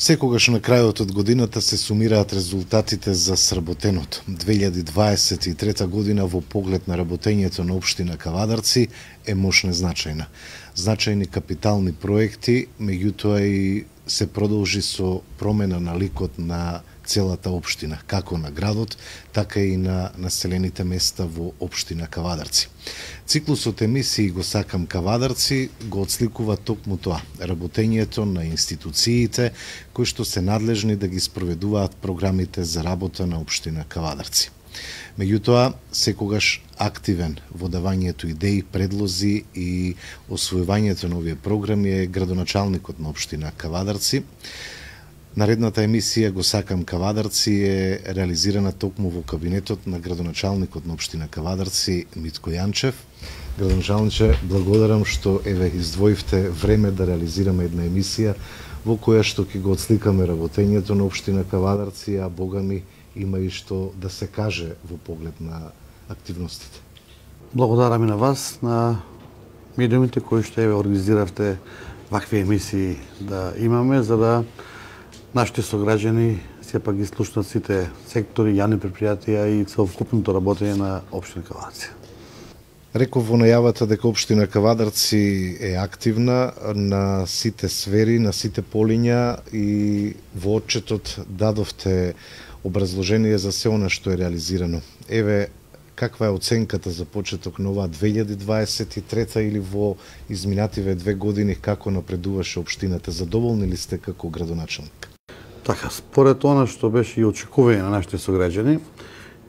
Секогаш на крајот од годината се сумираат резултатите за сработеното. 2023 година во поглед на работењето на општина Кавадарци е мощно значајна. Значајни капитални проекти, меѓутоа и се продолжи со промена на ликот на целата општина, како на градот, така и на населените места во општина Кавадарци. Циклусот емисии Го сакам Кавадарци го отсликува токму тоа, работењето на институциите кои што се надлежни да ги спроведуваат програмите за работа на општина Кавадарци. Меѓутоа, секогаш активен во давањето идеи, предлози и освојувањето на овие програми е градоначалникот на општина Кавадарци. Наредната емисија Го сакам Кавадарци е реализирана токму во кабинетот на градоначалникот на општина Кавадарци Митко Јанчев. Градоначалниче, благодарам што издвоивте време да реализираме една емисија во која што ќе го отсликаме работењето на општина Кавадарци, а богами има и што да се каже во поглед на активностите. Благодарам и на вас, на медиумите кои што организиравте вакви емисии да имаме, за да нашите сограѓани сепак ги слушнат сите сектори, јавни предпријатија и целокупното работење на општина Кавадарци. Реков во најавата дека општина Кавадарци е активна на сите сфери, на сите полиња и во отчетот дадовте образложение за се она што е реализирано. Еве, каква е оценката за почеток на оваа 2023 или во изминативе 2 години како напредуваше општината? Задоволни ли сте како градоначалник? Така, според она што беше и очекување на нашите сограѓани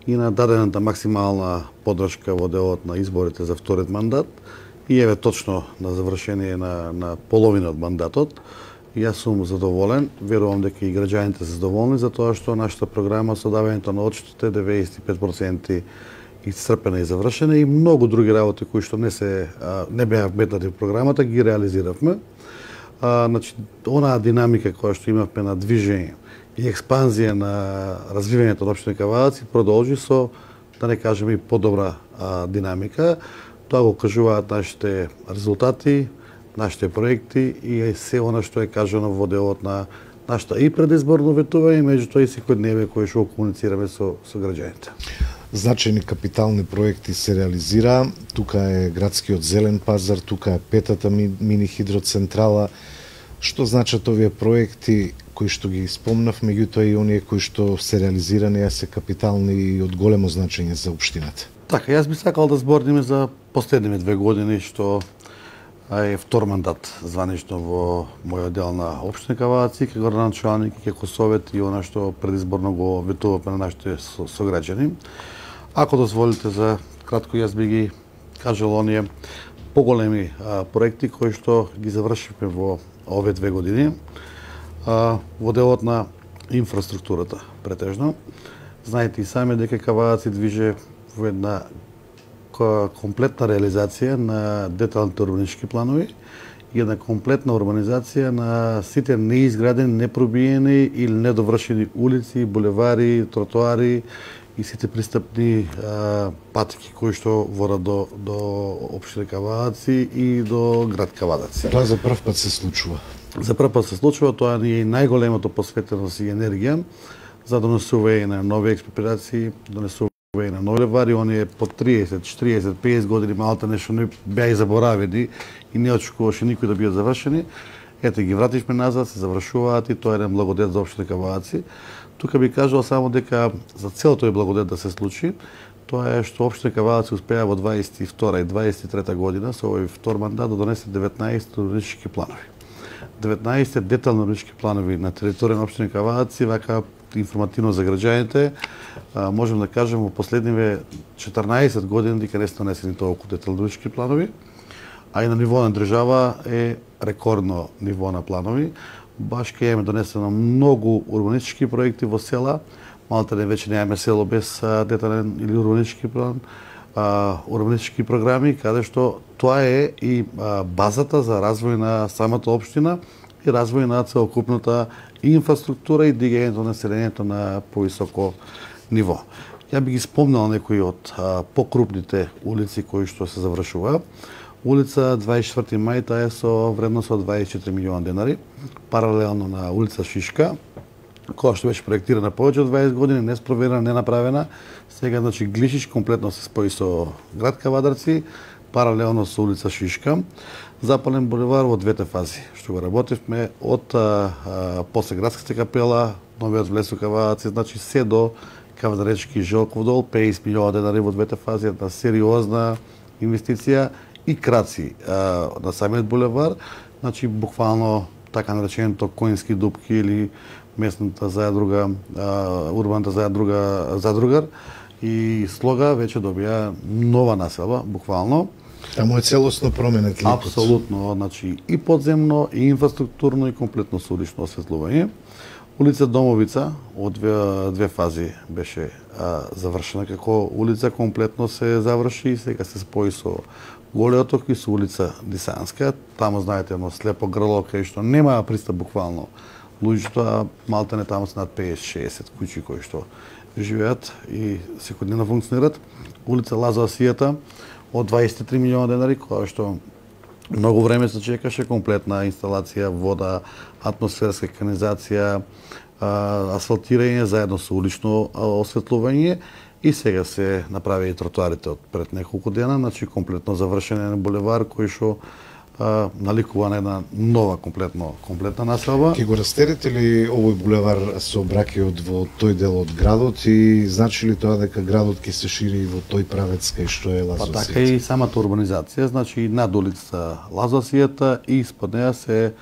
и на дадената максимална поддршка во делот на изборите за вториот мандат, и еве точно на завршение на половина од мандатот, јас сум задоволен, верувам дека и граѓаните се задоволни за тоа што нашата програма со давањето на отчетот е 95% исцрпена и завршена и многу други работи кои што не беа вметнати во програмата ги реализиравме. Значи, онаа динамика која што имавме на движење и експанзија на развивањето на општина Кавадарци продолжи со, да не кажеме, и подобра динамика. Тоа го кажуваат нашите резултати, нашите проекти и се она што е кажано во делот на нашата и предизборно ветување, меѓутоа и секојдневие кој што комуницираме со граѓаните. Значајни капитални проекти се реализира. Тука е градскиот зелен пазар, тука е петата мини хидроцентрала. Што значат овие проекти кои што ги спомнав, меѓутоа и оние кои што се реализирани, се капитални и од големо значење за општината? Така, јас би сакал да збориме за последниве 2 години што е втор мандат званично во мојот дел на општина Кавадарци, како градоначалник и како совет и она што предизборно го ветувавме на нашите сограѓани. Ако дозволите за кратко, јас би ги кажал оние поголеми проекти кои што ги завршивме во овие 2 години во делот на инфраструктурата претежно. Знаете и сами дека Кавадарци движе во една комплетна реализација на деталните урбанистички планови и една комплетна урбанизација на сите неизградени, непробиени или недовршени улици, булевари, тротоари и сите пристапни патеки кои што водат до општина Кавадарци и до град Кавадарци. Тоа за прв пат се случува. За прв пат се случува, тоа е најголемото посветеност и енергија за донесување на нови експроприации, донесување на нови булевари, оние по 30, 40, 50 години малта нешто не беа и заборавени и не очекуваше никој да бидат завршени. Ете ги вративме назад, се завршуваат и тоа е еден благодет за општина Кавадарци. Тука би кажал само дека за цел тој благодет да се случи, тоа е што општина Кавадарци успеа во 22 и 23 година со овој втор мандат да донесе 19 урбанистички планови. 19 детални урбанистички планови на територија на општина Кавадарци, вака информативно за граѓаните, можем да кажем во последниве 14 години дека не се донесени толку детални урбанистички планови, а и на ниво на држава е рекордно ниво на планови. Баш ке имаме донесено многу урбанистички проекти во села, малте веќе немаме село без детален или урбанистички план, урбанистички програми, каде што тоа е и базата за развој на самата општина и развој на целокупната инфраструктура и дигањето на населението на повисоко ниво. Ја би ги спомнал некои од покрупните улици кои што се завршува. Улица 24 мај, таа е со вредност од 24 милиони денари, паралелно на улица Шишка, која што беше проектирана повеќе од 20 години, не спроверена, не направена. Сега, значи, Глишич комплетно се спои со град Кавадарци, паралелно со улица Шишка. Запален булевар во двете фази, што го работивме од после градската капела, новиот влез во Кавадарци, значи се до Кавадаречки Желков дол, 50 милиона денари во двете фази, една сериозна инвестиција и краци на самиот булевар, значи буквално така нареченото Коински дупки или местната задруга, урбаната задругар и Слога веќе добија нова населба, буквално. Таму е целосно променет ликот. Апсолутно, значи и подземно, и инфраструктурно, и комплетно улично осветлување. Улица Домовица од две фази беше завршена како улица, комплетно се заврши и сега се спои со Голиот ток и со улица Дисанска. Таму знаете едно слепо грло кај што нема пристап буквално луѓето, а малтене таму се над 50-60 куќи кои што живеат и секојдневно функционират. Улица Лазо Асијата од 23 милиона денари, која што многу време се чекаше, комплетна инсталација, вода, атмосферска канализација, асфалтирање заедно со улично осветлување и сега се направи и тротоарите од пред неколку дена, значи комплетно завршен е булевар кој што наликува на една нова комплетна населба. Ке го растерете ли овој булевар сообраќајот во тој дел од градот и значи ли тоа дека градот ќе се шири во тој правец кај што е Лазо Асијата? Па така и самата урбанизација, значи и над улицата Лазо Асијата и испод неа се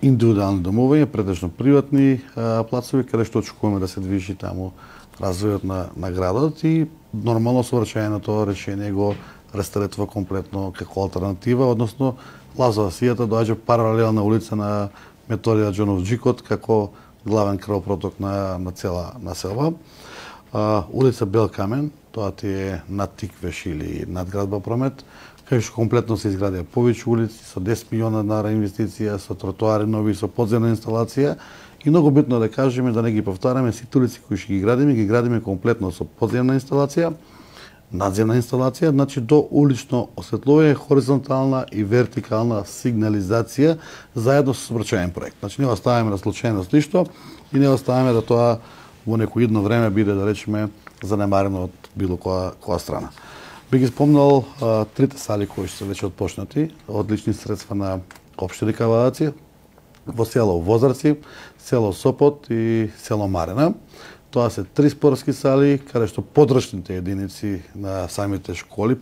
индивидуални домовања, претежно приватни плацови каде што очекуваме да се движи таму развојот на градот и нормално сообраќајното решение го рестаретува комплетно како алтернатива, односно Лазо Асијата доаѓа паралелна улица на Методија Џонов Џикот како главен крвопроток на цела населба. Улица Бел Камен, тоа ти е над Тиквеш или над градба Промет, кај што комплетно се изградија повеќе улици со 10 милиона денари инвестиција, со тротоари нови, со подземна инсталација. И многу битно да кажеме, да не ги повтараме, сите улици кои што ги градиме комплетно со подземна инсталација, надземна инсталација, значи до улично осветлување, хоризонтална и вертикална сигнализација заедно со сообраќајен проект. Значи не оставаме на случајност ништо и не оставаме да тоа во некој идно време биде, да речеме, занемарено од било која страна. Би ги спомнал трите сали кои што се веќе отпочнати, одлични средства на општина Кавадарци, во село Возарци, село Сопот и село Марена. Тоа се 3 спортски сали, каде што подрачните единици на самите школи,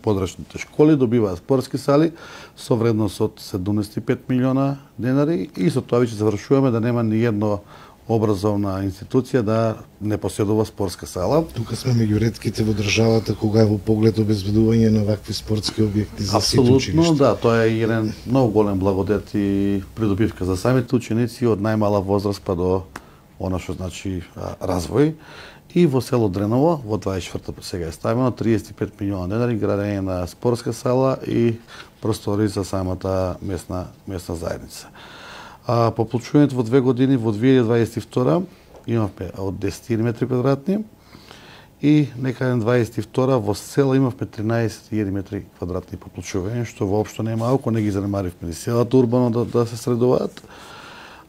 добиваат спортски сали со вредност од 75 милиона денари и со тоа веќе завршуваме да нема ни едно образовна институција да не поседува спортска сала. Тука сме меѓу ретките во државата кога е во поглед обезбедување на вакви спортски објекти за сите ученичи. Апсолутно, да, тоа е еден многу голем благодет и придобивка за самите ученици од најмала возраст па до она што значи развој. И во село Дреново, во 24-та сега е ставено 35 милиона денари градење на спортска сала и простори за самата местна заедница. По получувањето во 2 години, во 2022 имавме од 10 метри квадратни и некаде 22 во села имавме 13 метри квадратни по получување, што воопшто не е малку, не ги занемаривме ни селата урбано да се средуваат.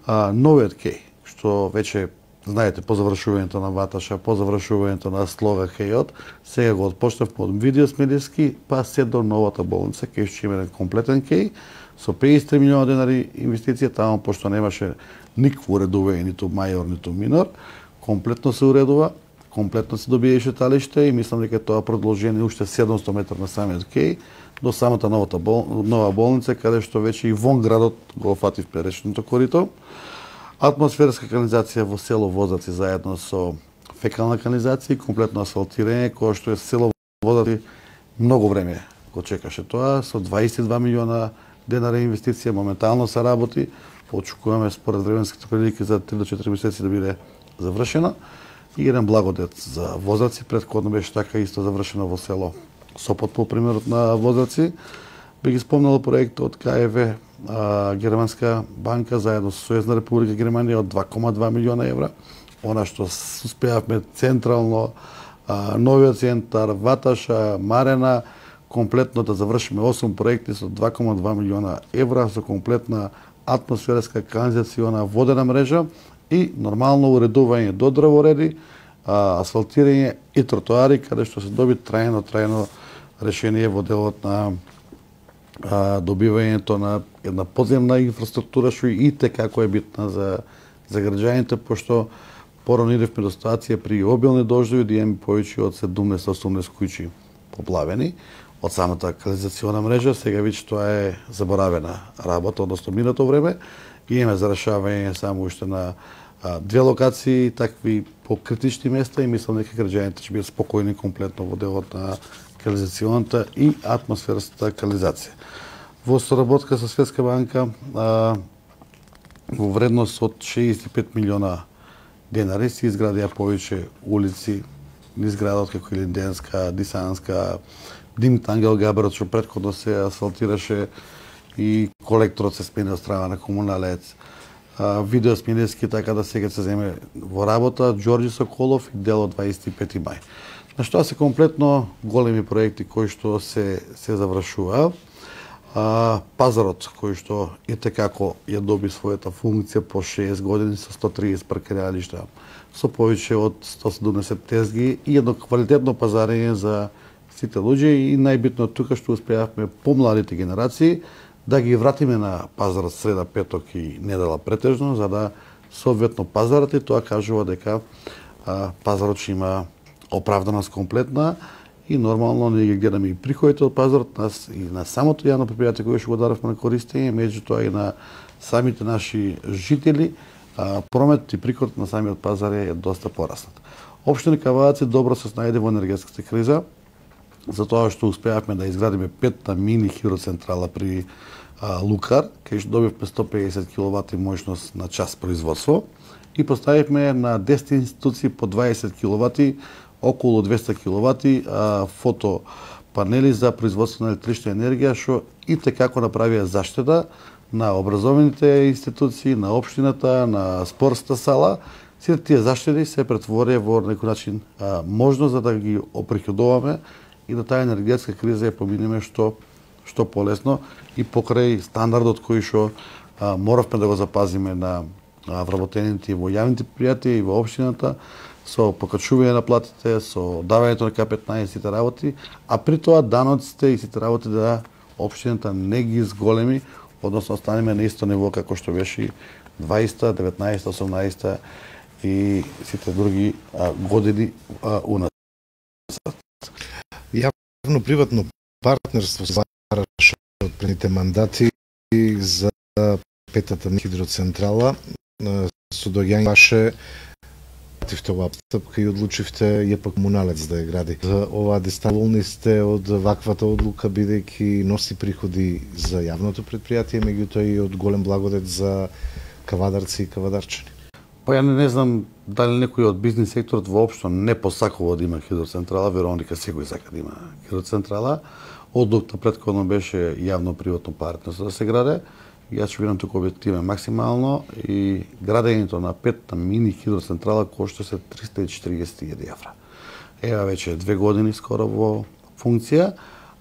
Новиот кеј, што веќе знаете, по завршувањето на Ваташа, по завршувањето на Слога кејот, сега го отпочнавме од Видио Смедевски, па се до новата болница, кај што има еден комплетен кеј, со 53 милиона денари инвестиција, таму пошто немаше никакво уредување, ниту мајор, ниту минор, комплетно се уредува, комплетно се добија и шеталиште и мислам дека тоа продолжение уште 700 метра на самиот кеј до самата нова болница, каде што веќе и вон градот го фативме речното корито. Атмосферска канализација во село Возарци заедно со фекална канализација и комплетно асфалтирање, кое што е село Возарци многу време го чекаше тоа, со 22 милиона денари инвестиција, моментално се работи, очекуваме според временските прилики за 3 до 4 месеци да биде завршено. И еден благодет за Возарци, претходно беше така исто завршено во село Сопот по примерот на Возарци. Би ги спомнал проектот КФВ, Германска банка заедно со Сојузна Република Германија од 2,2 милиона евра. Она што успеавме централно, новиот центар, Ваташа, Марена, комплетно да завршиме 8 проекти со 2,2 милиона евра, со комплетна атмосферска канализациона водена мрежа и нормално уредување до дрвореди, асфалтирање и тротоари, каде што се доби трајно решение во делот на добивањето на една подземна инфраструктура, што и како е битна за граѓаните, пошто порано идевме до ситуација при обилни дождови да имаме повеќе од 17-18 куќи поплавени од самата канализациона мрежа. Сега веќе тоа е заборавена работа, односно минато време. Имаме за решавање само уште на 2 локации, такви по критични места и мислам дека граѓаните ќе бидат спокојни комплетно во делот на канализационата и атмосферската канализација. Во соработка со Светска банка во вредност од 65 милиона денари се изградија повеќе улици низ градот како Илинденска, Дисанска, Димит Ангел Габерот, што претходно се асфалтираше и колекторот се смени од страна на комуналец. Видеосменески, така да сега се земе во работа Ѓорѓи Соколов и дел од 25 мај. На што се комплетно големи проекти кои што се завршува. Пазарот кој што како ја доби својата функција по 6 години со 130 паркиралишта, со повеќе од 170 тезги и едно квалитетно пазарење за сите луѓе и најбитно тука што успеавме помладите генерации да ги вратиме на пазарот среда, петок и недела претежно, за да соодветно пазарот и тоа кажува дека пазарот ќе има оправданост комплетна и нормално ние ги гледаме и приходите од пазарот нас и на самото јавно предпријатие кое што го даравме на користење, меѓутоа и на самите наши жители, прометот и приходот на самиот пазар е доста пораснат. Општина Кавадаци добро се снајде во енергетската криза, затоа што успеавме да изградиме 5 мини хидроцентрала при Лукар, кај што добивме 150 киловати моќност на час производство и поставивме на 10 институции по 20 киловати, околу 200 киловати фотопанели за производство на електрична енергија, што и како направија заштита на образованите институции, на општината, на спортската сала. Сите тие заштити се претворија во некој начин можност за да ги оприходуваме и да таа енергетска криза ја поминеме што полесно и покрај стандардот кој што моравме да го запазиме на вработените во јавните предпријатија и во општината, со покачување на платите, со давањето на К15 и сите работи, а при тоа даноците и сите работи да општината не ги зголеми, односно останеме на исто ниво како што беше 20, 19, 18 и сите други години уназад. Јавно-приватно партнерство се бараше од предните мандати за петата хидроцентрала. Со доаѓање ваше пративте оваа постапка и одлучивте ЈП Комуналец да ја гради. За оваа дистанција сте од ваквата одлука, бидејќи носи приходи за јавното предпријатие, меѓутоа и од голем благодет за кавадарци и кавадарчани. Па ја не знам дали некој од бизнис секторот воопшто не посакува да има хидроцентрала, верувам дека секој сака да има хидроцентрала. Одлуката претходно беше јавно-приватно партнерство да се граде. Јас ќе бидам тука објективен максимално и градењето на 5 мини хидроцентрала кошта се 340.000 евра. Ева веќе 2 години скоро во функција,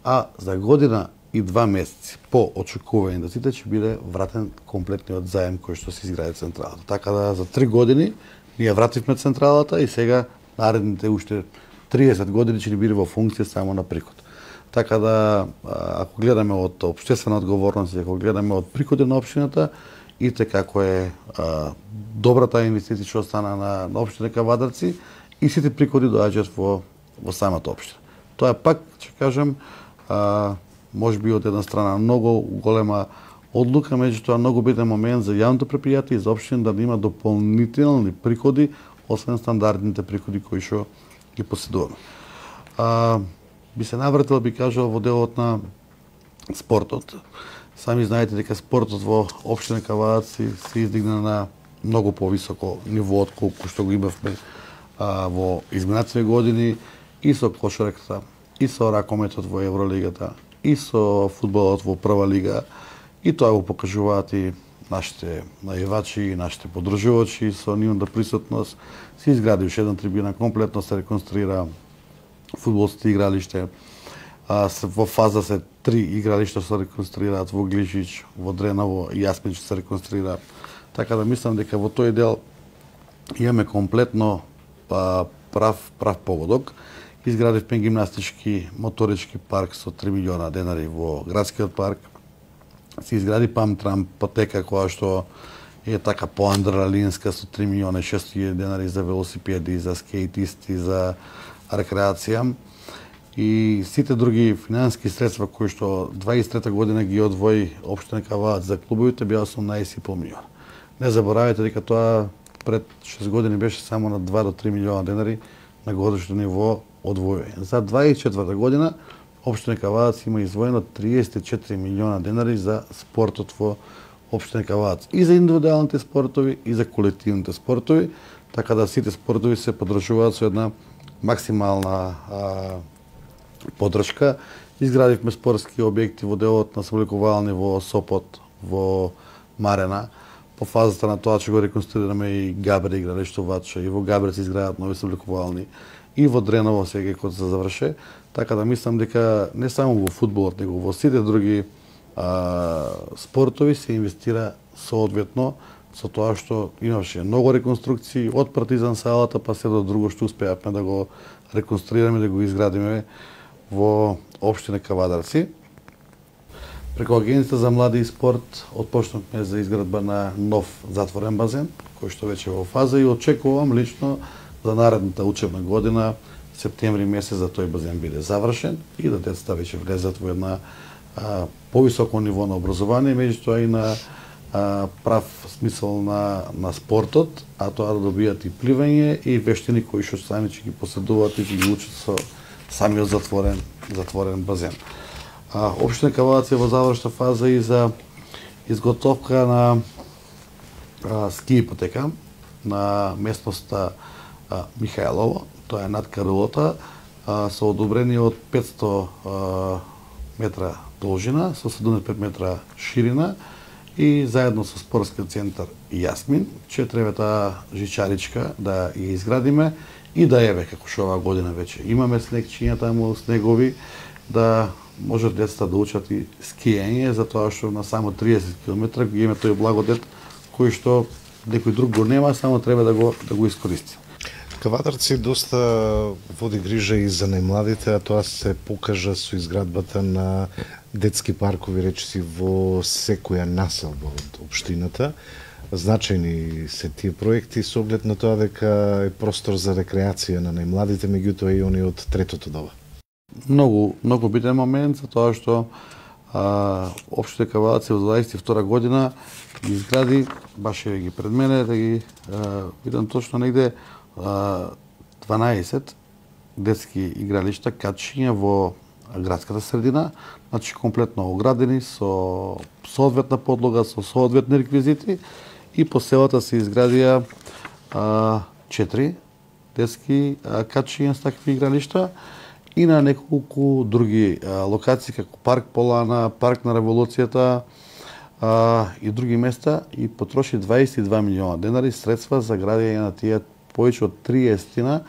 а за година и 2 месеци по очекување да сите ќе биде вратен комплетниот заем кој што се изгради централата. Така да за 3 години ние вративме централата и сега наредните уште 30 години ќе ни биде во функција само на приход. Така да, ако гледаме од општествена одговорност, ако гледаме од приходи на општината, и како е добрата инвестиција што стана на општина Кавадарци и сите приходи доаѓаат во самата општина. Тоа е пак, ќе кажам, може би од една страна многу голема одлука, меѓутоа многу битен момент за јавното предпријатие и за општина да има дополнителни приходи, освен стандардните приходи кои што ги поседуваме. Би се навратил, би кажал, во делот на спортот. Сами знаете дека спортот во општина Кавадаци се издигна на многу повисоко ниво од колку што го имавме во изминатите години и со кошарката, и со ракометот во Евролигата, и со фудбалот во прва лига. И тоа го покажуваат и нашите најавачи и нашите поддржувачи со нивната присутност. Се изгради уште една трибина, комплетно се реконструира фудбалските игралиште. Во фаза се 3 игралишта се реконструираат во Глижич, во Дреново и Јасмин се реконструира. Така да мислам дека во тој дел имаме комплетно прав погодок. Изградивме гимнастички моторички парк со 3 милиона денари во градскиот парк. Се изгради памтрам патека која што е така поандреналинска со 3 милиона 600 денари за велосипеди, за скейтисти, за рекреација. И сите други финансиски средства кои што 23 година ги одвои општина Кавадац за клубовите беа 18,5 милиона. Не заборавајте дека тоа пред 6 години беше само на 2 до 3 милиона денари на годишно ниво одвојување. За 24 година општина Кавадац има издвоено 34 милиона денари за спортот во општина Кавадац. И за индивидуалните спортови, и за колективните спортови, така да сите спортови се подржуваат со една максимална поддршка. Изградивме спортски објекти во делот на самолекувални во Сопот, во Марена. По фазата на тоа ќе го реконструираме и Габре игралиште Вача, и во Габре се изградат нови самолекувални, и во Дреново сега кога се заврше. Така да мислам дека не само во фудбалот, него во сите други спортови се инвестира соодветно со тоа што имаше многу реконструкции од Партизан салата па се до друго што успеавме да го реконструираме, да го изградиме во општина Кавадарци. Преку Агенцијата за млади и спорт отпочнавме за изградба на нов затворен базен, кој што веќе е во фаза, и очекувам лично за наредната учебна година, септември месец, да тој базен биде завршен и да децата веќе влезат во една повисоко ниво на образование, меѓутоа и на прав смисол на спортот, а тоа да добијат и пливање и вештини кои што сами ќе ги поседуваат и ќе ги учат со самиот затворен базен. Општина Кавадац е во завршна фаза и за изготовка на ски ипотека на местноста Михајлово, тоа е над Карулата, со одобрение од 500 метра должина, со 75 метра ширина и заедно со спортскиот центар Јасмин, ќе треба таа жичаричка да ја изградиме и да еве, како што оваа година веќе имаме снегчиња таму, снегови, да можат децата да учат и скиење, затоа што на само 30 км го имаме тој благодет кој што некој друг го нема, само треба да го искористи. Кавадарци доста води грижа и за најмладите, а тоа се покажа со изградбата на детски паркови речиси во секоја населба од општината. Значајни се тие проекти со оглед на тоа дека е простор за рекреација на најмладите, меѓутоа и они од третото доба. Многу битен момент за тоа што општина Кавадац во 22 година ги изгради, баш ги пред мене, да ги видам точно негде 12 детски игралишта, качиња во градската средина, значи комплетно оградени со соодветна подлога, со соодветни реквизити, и по селата се изградија 4 детски качиња с такви игралишта и на неколку други локации како парк Полана, парк на Револуцијата и други места, и потроши 22 милиона денари средства за градење на тие повеќе од 30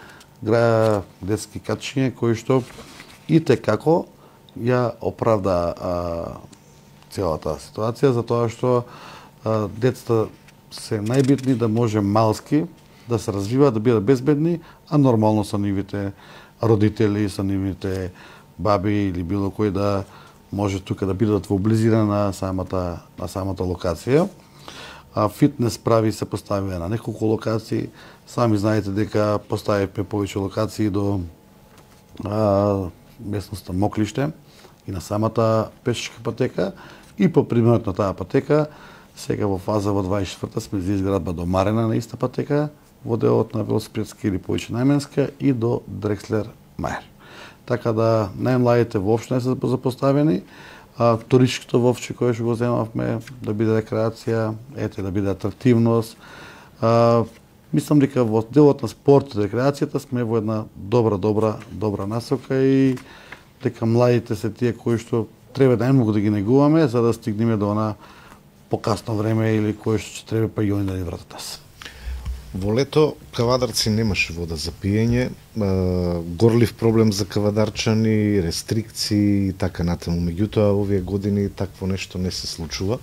детски качиња кои што и текако ја оправда целата ситуација, затоа што децата се најбитни да може малски да се развиваат, да бидат безбедни, а нормално со нивите родители, со нивните баби или било кој да може тука да бидат во близина на самата локација. Фитнес прави се поставија на неколку локации. Сами знаете дека поставивме повеќе локации до местноста Моклиште и на самата пешачка патека, и по примерот на таа патека сега во фаза во 24-та сме за изградба до Марена на иста патека, во делот на велосипедска или повеќе најменска, и до Дрекслер Мајер. Така да најмладите воопшто не се запоставени. Туристичкото вовче кое што го земавме да биде рекреација, да биде атрактивност. Мислам дека во делот на спортот и рекреацијата сме во една добра насока, и дека младите се тие кои што треба најмногу да ги негуваме за да стигнеме до она покасно време или кое што ќе треба па и они да ни вратат нас. Во лето Кавадарци немаше вода за пиење, горлив проблем за кавадарчани, рестрикции и така натаму. Меѓутоа, овие години такво нешто не се случува.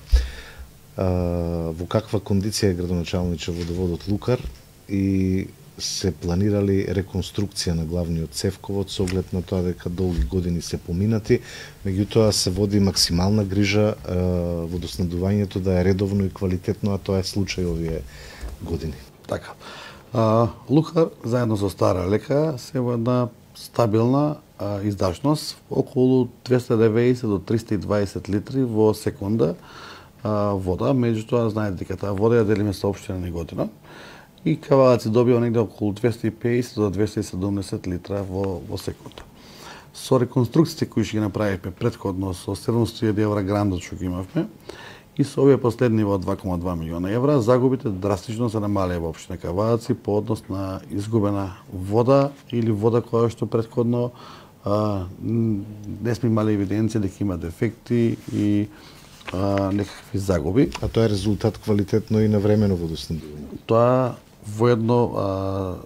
Во каква кондиција е градоначалниче водоводот Лукар и се планирали реконструкција на главниот цевковод со оглед на тоа дека долги години се поминати, меѓутоа се води максимална грижа водоснабдувањето да е редовно и квалитетно, а тоа е случај овие години. Така. Лукар, заедно со Стара Лека, се во една стабилна издашност, околу 290 до 320 литри во секунда вода, меѓутоа знаете дека таа вода ја делиме со општина Неготино и Кавадарци добива негде околу 250 до 270 литра во секунда. Со реконструкциите кои ќе ги направивме претходно со 700.000 евра грантот што ги имавме и со овие последни во 2,2 милиона евра, загубите драстично се намалија во општина Кавадарци по однос на изгубена вода или вода која што претходно не сме имали евиденција дека има дефекти и некакви загуби. А тоа е резултат квалитетно и навремено водоснабдување. Тоа воедно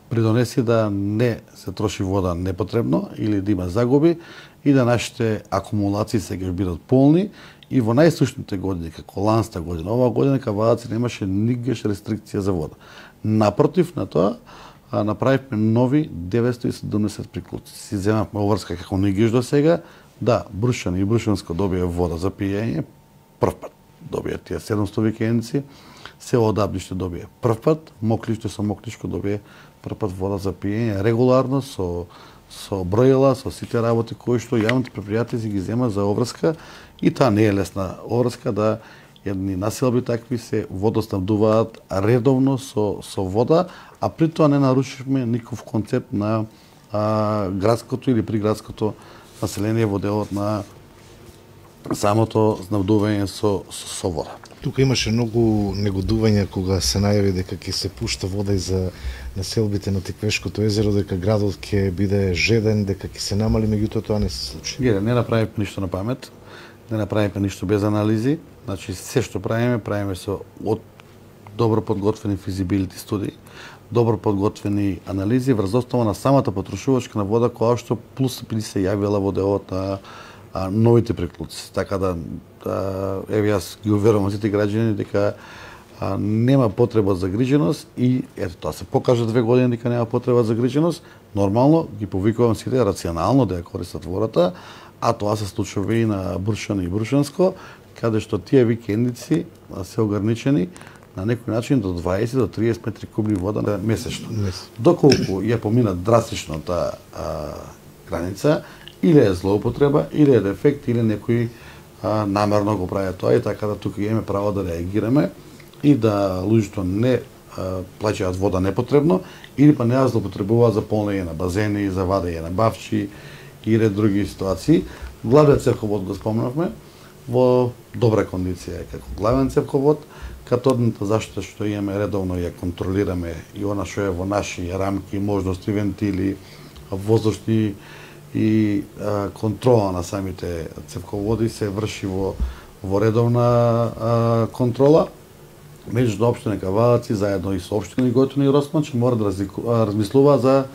придонеси да не се троши вода непотребно или да има загуби и да нашите акумулации сега бидат полни и во најсушните години, како ланста година, оваа година Кавадарци немаше нигаш рестрикција за вода. Напротив на тоа, направивме нови 970 приклучици. Си земавме оврска како нигаш до сега, да, Брушан и Брушанско добија вода за пиење, прв пат добија тие 700 викендици, село Дабниште добија прв пат, Моклиште со Моклишко добија прв пат вода за пиење, регуларно со броила, со сите работи кои што јавните предпријатија си ги зема за оврска и таа не е лесна оврска да едни населби такви се водоснабдуваат редовно со вода, а при тоа не нарушивме никаков концепт на градското или приградското население во делот на самото снабдување со вода. Тука имаше многу негодување кога се најави дека ќе се пушта вода и за населбите на Тиквешкото езеро, дека градот ќе биде жеден, дека ќе се намали, меѓутоа тоа не се случи. Не направиме ништо на памет, не направиме ништо без анализи, значи се што правиме со добро подготвени физибилити студии, добро подготвени анализи врз основа на самата потрошувачка на вода која што плюс би се јавила во делот на новите приклучици. Така да еве јас ги уверувам сите граѓани дека нема потреба за гриженост и ето тоа се покажа 2 години дека нема потреба за гриженост. Нормално ги повикувам сите рационално да ја користат водата, а тоа се случува и на Брушан и Брушанско, каде што тие викендици се ограничени на некој начин до 20 до 30 метри кубни вода месечно. Доколку ја помина драстично таа граница, или е злоупотреба, или е дефект, или некој намерно го прави тоа и така да тука имаме право да реагираме и да луѓето не плаќаат вода непотребно или па не ја злоупотребуваат за полнење на базени, за вадење на бавчи и ред други ситуации. Главниот цевковод го спомнавме во добра кондиција е како главен цевковод, катодната заштита што имаме редовно ја контролираме и она што е во наши рамки, можности, вентили, воздушни и контрола на самите цевководи се врши во редовна контрола. Меѓу општина Кавадарци заедно и со општина Неготино и Росман мора да размислува за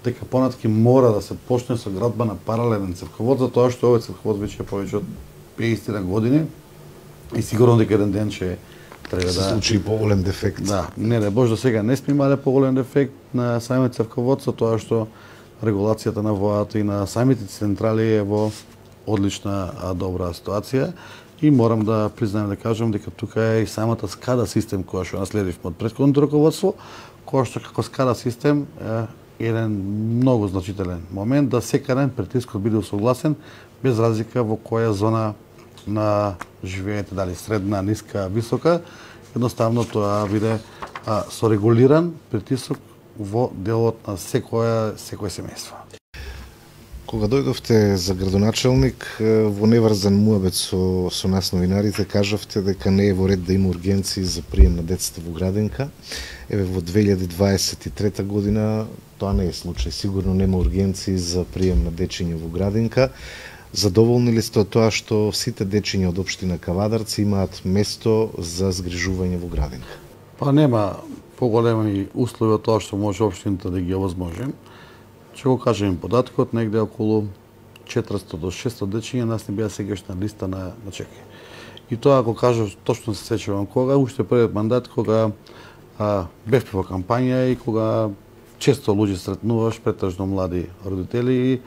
дека понатки мора да се почне со градба на паралелен цевковод, затоа што овој цевковод веќе е повеќе од 50 години и сигурно дека еден ден ќе треба да се случи поголем дефект. Да, не бож до сега не сме имале поголем дефект на самиот цевковод, со тоа што регулацијата на водата и на самите централи е во одлична добра ситуација и морам да признаем да кажам дека тука е и самата скада систем која што наследивме од претходното раководство, која што како скада систем е еден многу значителен момент да секаде притискот биде усогласен без разлика во која зона на живеете, дали средна, ниска, висока, едноставно тоа биде со регулиран притисок во делот на секое семејство. Кога дојдовте за градоначалник, во неврзан муабет со нас новинарите, кажавте дека не е во ред да има ургенции за прием на децата во градинка. Еве во 2023 година тоа не е случај. Сигурно нема ургенции за прием на дечиња во градинка. Задоволни ли сте од тоа што сите дечиња од општина Кавадарци имаат место за згрижување во градинка? Па нема поголеми услови од тоа што може општината да ги овозможи. Ќе го кажем податокот, негде околу 400 до 600 дечиња нас не беа сегаш на листа на чекање. И тоа, ако кажам, точно се сеќавам кога, уште првиот мандат, кога бев во кампања и кога често луѓе сретнуваш, претежно млади родители, и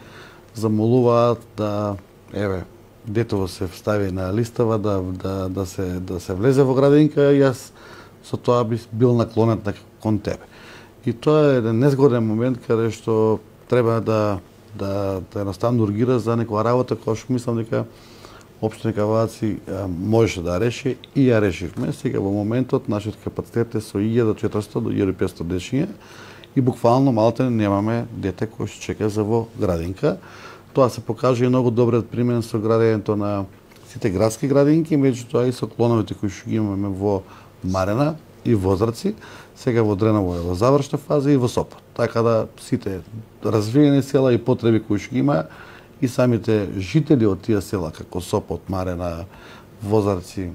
замолуваат да, детево се встави на листава, да се влезе во градинка, и јас со тоа би бил наклонет кон тебе. И тоа е еден незгоден момент каде што треба да едноставно ургира за некоја работа која што мислам дека општина Кавадаци можеше да реши и ја решивме. Сега во моментот нашиот капацитет е со 1400 до 1500 дечиња и буквално малте немаме дете кој што чека за во градинка. Тоа се покажа и многу добриот пример со градењето на сите градски градинки, меѓутоа и со клоновите кои што ги имаме во Марена и Возраци, сега во Дреново е во завршна фаза и во Сопот. Така да сите развиени села и потреби кои што ги има и самите жители од тие села, како Сопот, Марена, Возарци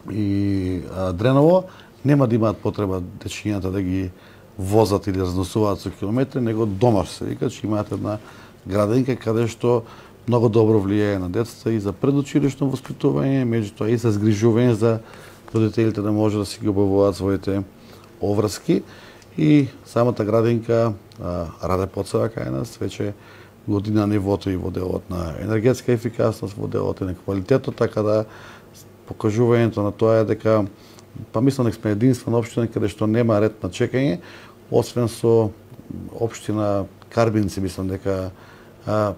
и Дреново, нема да имаат потреба дечињата да ги возат или разносуваат со километри, него дома се вика, че имаат една градинка каде што многу добро влијае на децата и за предучилишно воспитување, меѓутоа и за згрижување за родителите да може да си ги обавуваат своите оврски. И самата градинка раде подсева кај нас, веќе година нивото и во делот на енергетска ефикасност, во делот на квалитетот, така да покажувањето на тоа е дека, мислам дека сме единствена општина каде што нема ред на чекање, освен со општина Карбинци, мислам дека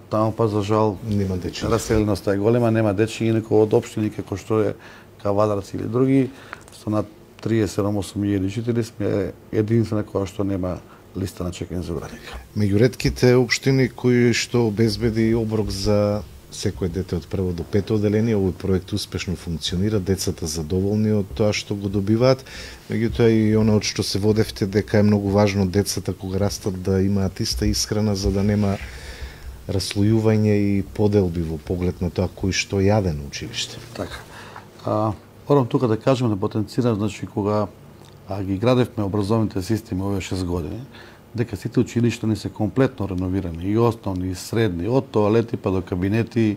таму за жал нема дечиња. Раселеноста е голема, нема дечиња, никој од општини како што е Кавадарци или други, со над 37.000 жители сме единствена која што нема листа на чекање за градинка. Меѓу ретките општини кои што обезбеди оброк за секое дете од прво до пето одделение, овој проект успешно функционира, децата задоволни од тоа што го добиваат, меѓутоа и она од што се водевте дека е многу важно децата кога растат да имаат иста исхрана за да нема раслојување и поделби во поглед на тоа кој што јаде на училиште. Така. Морам тука да кажем, да потенцирам, значи кога ги градевме образовните системи овие 6 години, дека сите училишта не се комплетно реновирани, и основни, и средни, од тоалети па до кабинети,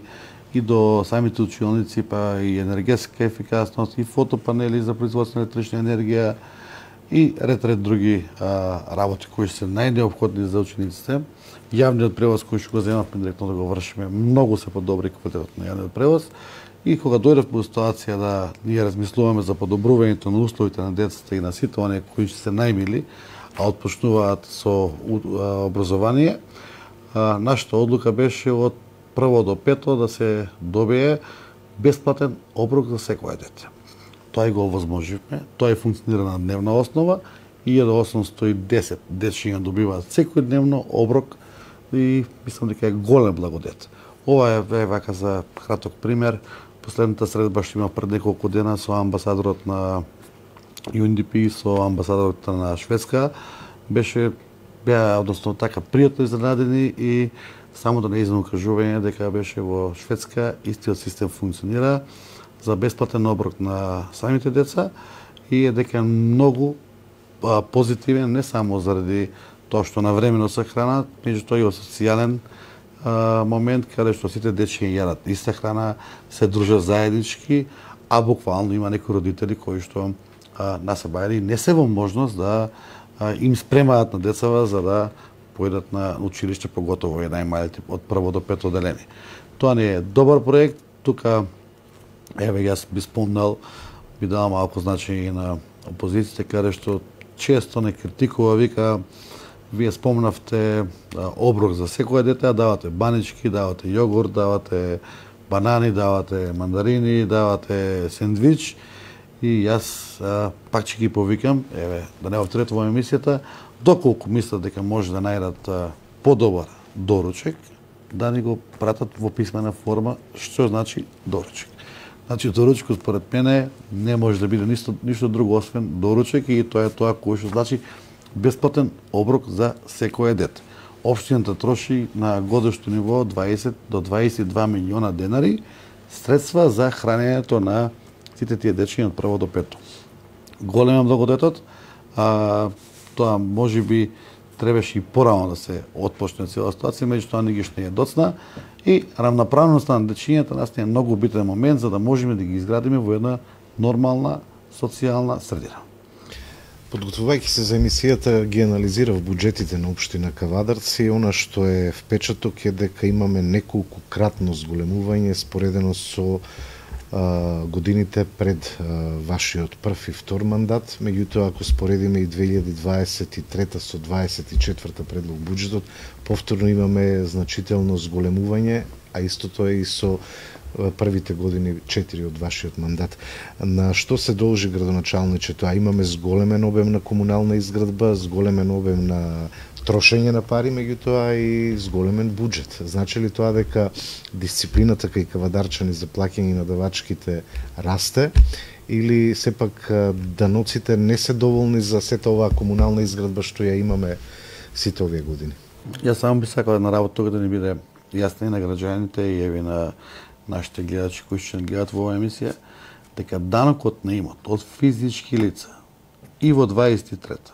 и до самите училници, па и енергетска ефикасност, и фотопанели за производство на електрична енергија, и ред други работи кои се најнеопходни за учениците. Јавниот превоз кој што го земавме директно да го вршиме, многу се подобри квалитетот на јавниот превоз. И кога дојдев во ситуација да ние размислуваме за подобрувањето на условите на децата и на сите оние кои се најмили, а отпочнуваат со образование, нашата одлука беше од прво до пето да се добие бесплатен оброк за секое дете. Тоа и го овозможивме, тоа и функционира на дневна основа, 1810 дечиња добиваат секојдневно оброк и мислам дека е голем благодет. Ова е вака за краток пример. Последната средба што има пред неколку дена со амбасадорот на UNDP, со амбасадорот на Шведска, беа односно така пријатно изненадени и само да не кажување дека беше во Шведска истиот систем функционира за бесплатен оброк на самите деца и е дека многу позитивен не само заради тоа што навремено се хранат, меѓутоа и социјален момент каде што сите дечиња јадат иста храна, се дружат заеднички, а буквално има некои родители кои што насебајали не се во можност да им спремаат на децава за да појдат на училиште, поготово и најмалите од прво до пето одделение. Тоа не е добар проект, тука јас би спомнал, би дал малку значење на опозицијата каде што често не критикува, вика вие спомнавте оброк за секое дете, давате банички, давате јогурт, давате банани, давате мандарини, давате сендвич и јас пак ќе ги повикам, да не повторувам емисијата, доколку мислат дека може да најдат подобар доручек, да ни го пратат во писмена форма, што значи доручек. Значи, доручекот според мене не може да биде ништо друго освен доручек и тоа е тоа кој што значи бесплатен оброк за секое дете. Општината троши на годишно ниво 20 до 22 милиона денари средства за хранењето на сите тие дечиња од прво до пето. Голем е благодетот, Тоа можеби требаше и порано да се отпочне цела ситуација, меѓутоа ни ги што не е доцна и равноправноста на дечињата нас е многу битен момент за да можеме да ги изградиме во една нормална социјална средина. Подготвувајќи се за емисијата, ги анализирав буџетите на општина Кавадарци и она што е впечаток е дека имаме неколкукратно зголемување споредено со годините пред вашиот прв и втор мандат, меѓутоа ако споредиме и 2023 со 24 предлог буџетот, повторно имаме значително зголемување, а истото е и со првите години 4 од вашиот мандат. На што се должи, градоначалниче, тоа? Имаме зголемен обем на комунална изградба, зголемен обем на трошење на пари, меѓутоа и зголемен буџет. Значи ли тоа дека дисциплината кај кавадарчани за плаќање на давачките расте, или сепак даноците не се доволни за сета оваа комунална изградба што ја имаме сите овие години? Јас само би сакал една работа тука да ни биде јасна и на граѓаните и еви на нашите гледачи кои ќе гледат во оваа емисија, дека данокот на имот од физички лица и во 23-та,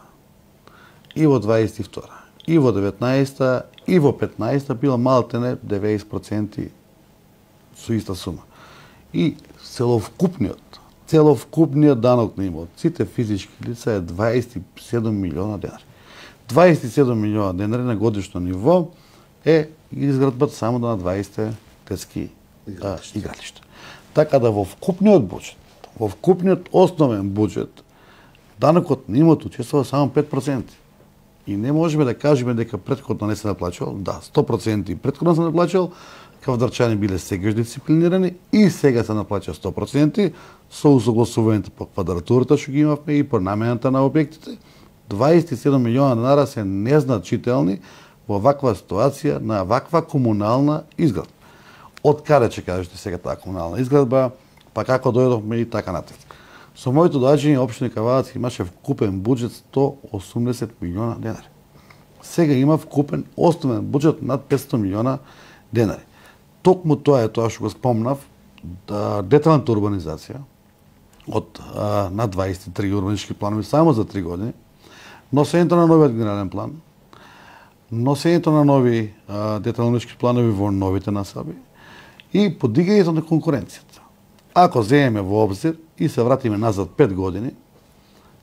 и во 22-та, и во 19-та, и во 15-та била малтене 90% со иста сума. И целовкупниот данок на имот, сите физички лица е 27 милиона денари. 27 милиона денари на годишно ниво е изградбата само на 20 детски игралишта. Така да во вкупниот буџет, во вкупниот основен буџет, данокот на имот учествува само 5%. И не можеме да кажеме дека претходно не се наплачувал. Да, 100% претходно се наплачувал, кавадарчани биле сегаш дисциплинирани и сега се наплачува 100% со усогласувањето по квадратурата што ги имавме и по намената на објектите. 27 милиона денара се незначителни во ваква ситуација на ваква комунална изградба. Од каде ќе кажете сега таа комунална изградба, па како дојдовме и така натаму. Со моето доаѓање општина Кавадарци имаше вкупен буџет 180 милиона денари. Сега има вкупен основен буџет над 500 милиона денари. Токму тоа е тоа што го спомнав, деталната урбанизација од над 23 урбанистички планови само за 3 години, носењето на новиот генерален план, носењето на нови детални урбанистички планови во новите насоби и подигањето на конкуренцијата. Ако земеме во обзир и се вратиме назад 5 години,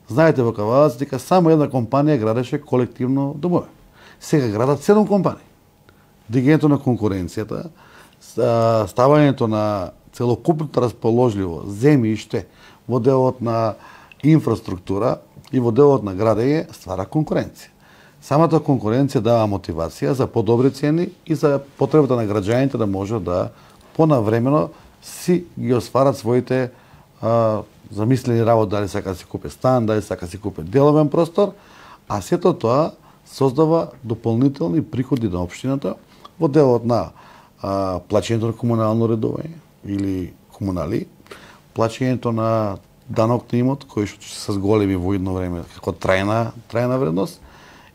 знаете во Кавадарци дека само една компанија градеше колективно домови. Сега градат 7 компании. Дигањето на конкуренцијата, ставањето на целокупното расположливо земјиште во делот на инфраструктура и во делот на градење ствара конкуренција. Самата конкуренција дава мотивација за подобри цени и за потребата на граѓаните да може да понавремено си ги осварат своите замислени работи, дали сака да си купи стан, дали сака да си купи деловен простор, а сето тоа создава дополнителни приходи на општината во делот на плаќањето на комунално редување или комунали, плаќањето на данок на имот, кој што се се зголеми во едно време како трајна вредност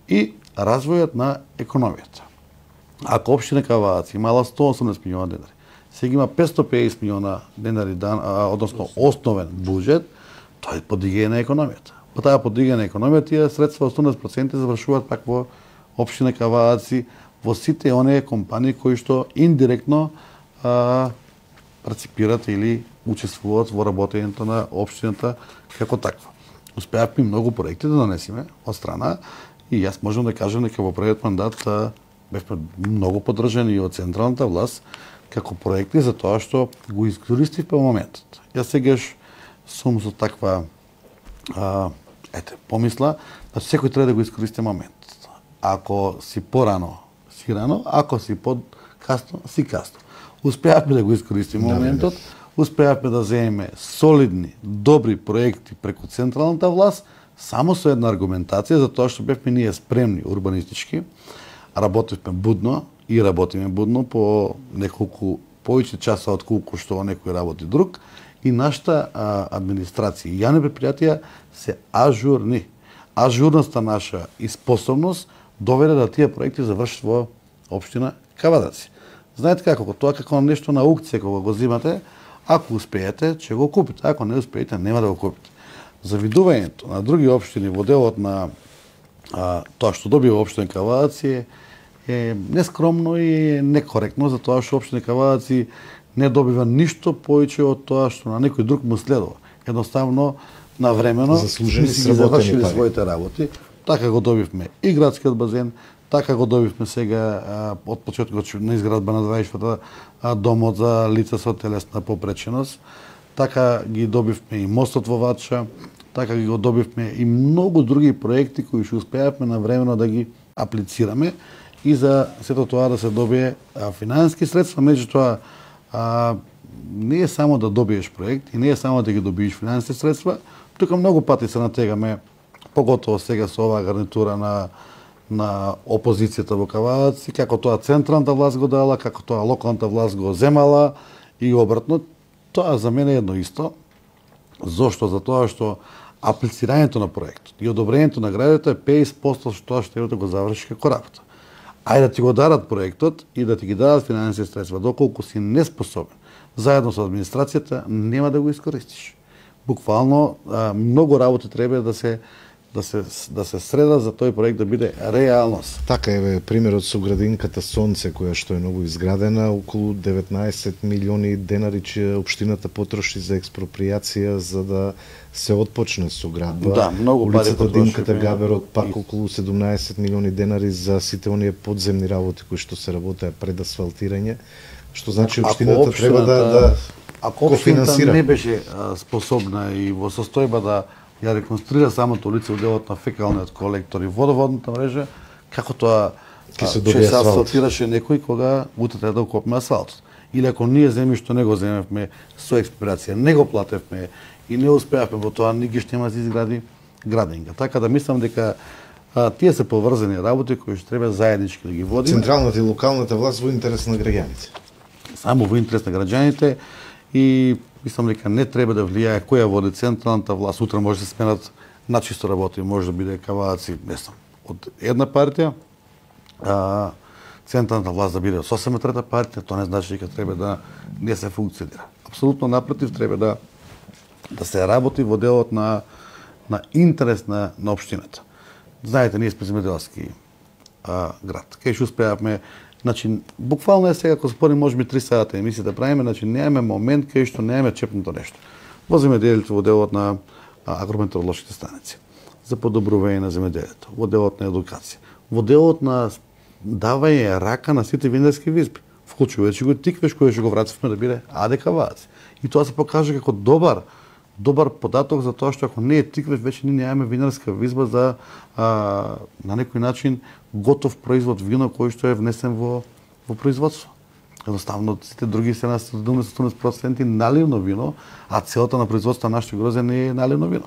и развојот на економијата. Ако општина Кавадарци имала 180 милиона денари, сега има 550 милиона денари односно основен буџет, тоа е подигање на економијата. По таа подигање на економијата тие средства 18% завршуваат пак во општина Кавадарци, во сите оние компании кои што индиректно парципират или учествуваат во работењето на општината како таква. Успеавме многу проекти да донесеме од страна и јас можам да кажам дека во првиот мандат бевме многу поддржани од централната власт како проекти за тоа што го искористив по моментот. Јас сегаш сум со таква помисла да секој треба да го искористи моментот. Ако си порано, си рано, ако си подкасно, си касно. Успеавме да го искористиме моментот, успеавме да земеме солидни, добри проекти преку централната власт, само со една аргументација за тоа што бевме ние спремни урбанистички, работевме будно и работиме будно по неколку повеќе часа од колку што некој работи друг и нашата администрација и јавни предпријатија се ажурни. Ажурноста наша и способност доведе да тие проекти завршат во општина Кавадарци. Знаете како, тоа како нешто на аукција кога го земате, ако успеете, ќе го купите, ако не успеете, нема да го купите. Завидувањето на други општини во делот на тоа што добива општина Кавадаци е нескромно и некоректно, затоа што општина Кавадаци не добива ништо повеќе од тоа што на некој друг му следува. Едноставно, навремено заслужени си ги завршили своите работи. Така го добивме и градскиот базен, така го добивме сега од почетокот на изградба на 24-та домот за лица со телесна попреченост, така ги добивме и мостот во Вача, така ги го добивме и многу други проекти кои што успеавме навремено да ги аплицираме и за сето тоа да се добие финансиски средства, меѓутоа не е само да добиеш проект и не е само да ги добиеш финансиски средства, тука многу пати се натегаме, поготово сега со оваа гарнитура на опозицијата во Кавадаци, како тоа централната власт го дала, како тоа локалната власт го земала и обратно. Тоа за мене е едно исто. Зошто? Затоа што аплицирањето на проектот и одобрението на градето е 50% што тоа што го заврши како работа. Ајде да ти го дадат проектот и да ти ги дадат финансиски средства, доколку си неспособен, заедно со администрацијата, нема да го искористиш. Буквално многу работи треба да се среда за тој проект да биде реалност. Така е примерот со градинката Сонце, која што е ново изградена, околу 19 милиони денари че општината потроши за експроприација за да се отпочне со градба. Да, многу пари улицата Димката Габерот пак околу 17 милиони денари за сите оние подземни работи кои што се работеа пред асфалтирање, што значи општината треба да ако општината не беше способна и во состојба да ја реконструира самото улица во делот на фекалниот колектор и водоводната мрежа, како тоа ќе се асфалтираше некој кога утре треба да окопме асфалтот. Или ако ние земјишто не го земевме со експроприација, не го платевме и не успеавме во тоа, ни ги што нема да изгради градинка. Така да мислам дека тие се поврзани работи кои што треба заеднички да ги водиме. Централната и локалната власт во интерес на граѓаните. Само во интерес на граѓаните и мислам дека не треба да влијае која води централната власт. Утре може да се сменат начисто работи, може да биде Кавадаци, не знам, од една партија, централната власт да биде од сосема трета партија, тоа не значи дека треба да не се функционира. Апсолутно напротив, треба да се работи во делот на интерес на општината. Знаете, ние сме земјоделски град. Кај што успеавме, значи, буквално е сега, ако спорим, може би 3 сата емисија да правиме, значи немаме момент кај што немаме чепнато нешто. Во земјоделието, во делот на агрометеоролошките станици, за подобрување на земјоделието, во делот на едукација, во делот на давање рака на сите винарски визби, вклучувајќи го тиквеш кој што го вративме да биде АД Кавадаци. И тоа се покажа како добар податок за тоа што ако не е тиквеш, веќе ние немаме винарска визба за на некој начин готов производ вино кој што е внесен во производство. Едноставно сите други се на 70% наливно вино, а целата на производство на нашето грозде не е наливно вино.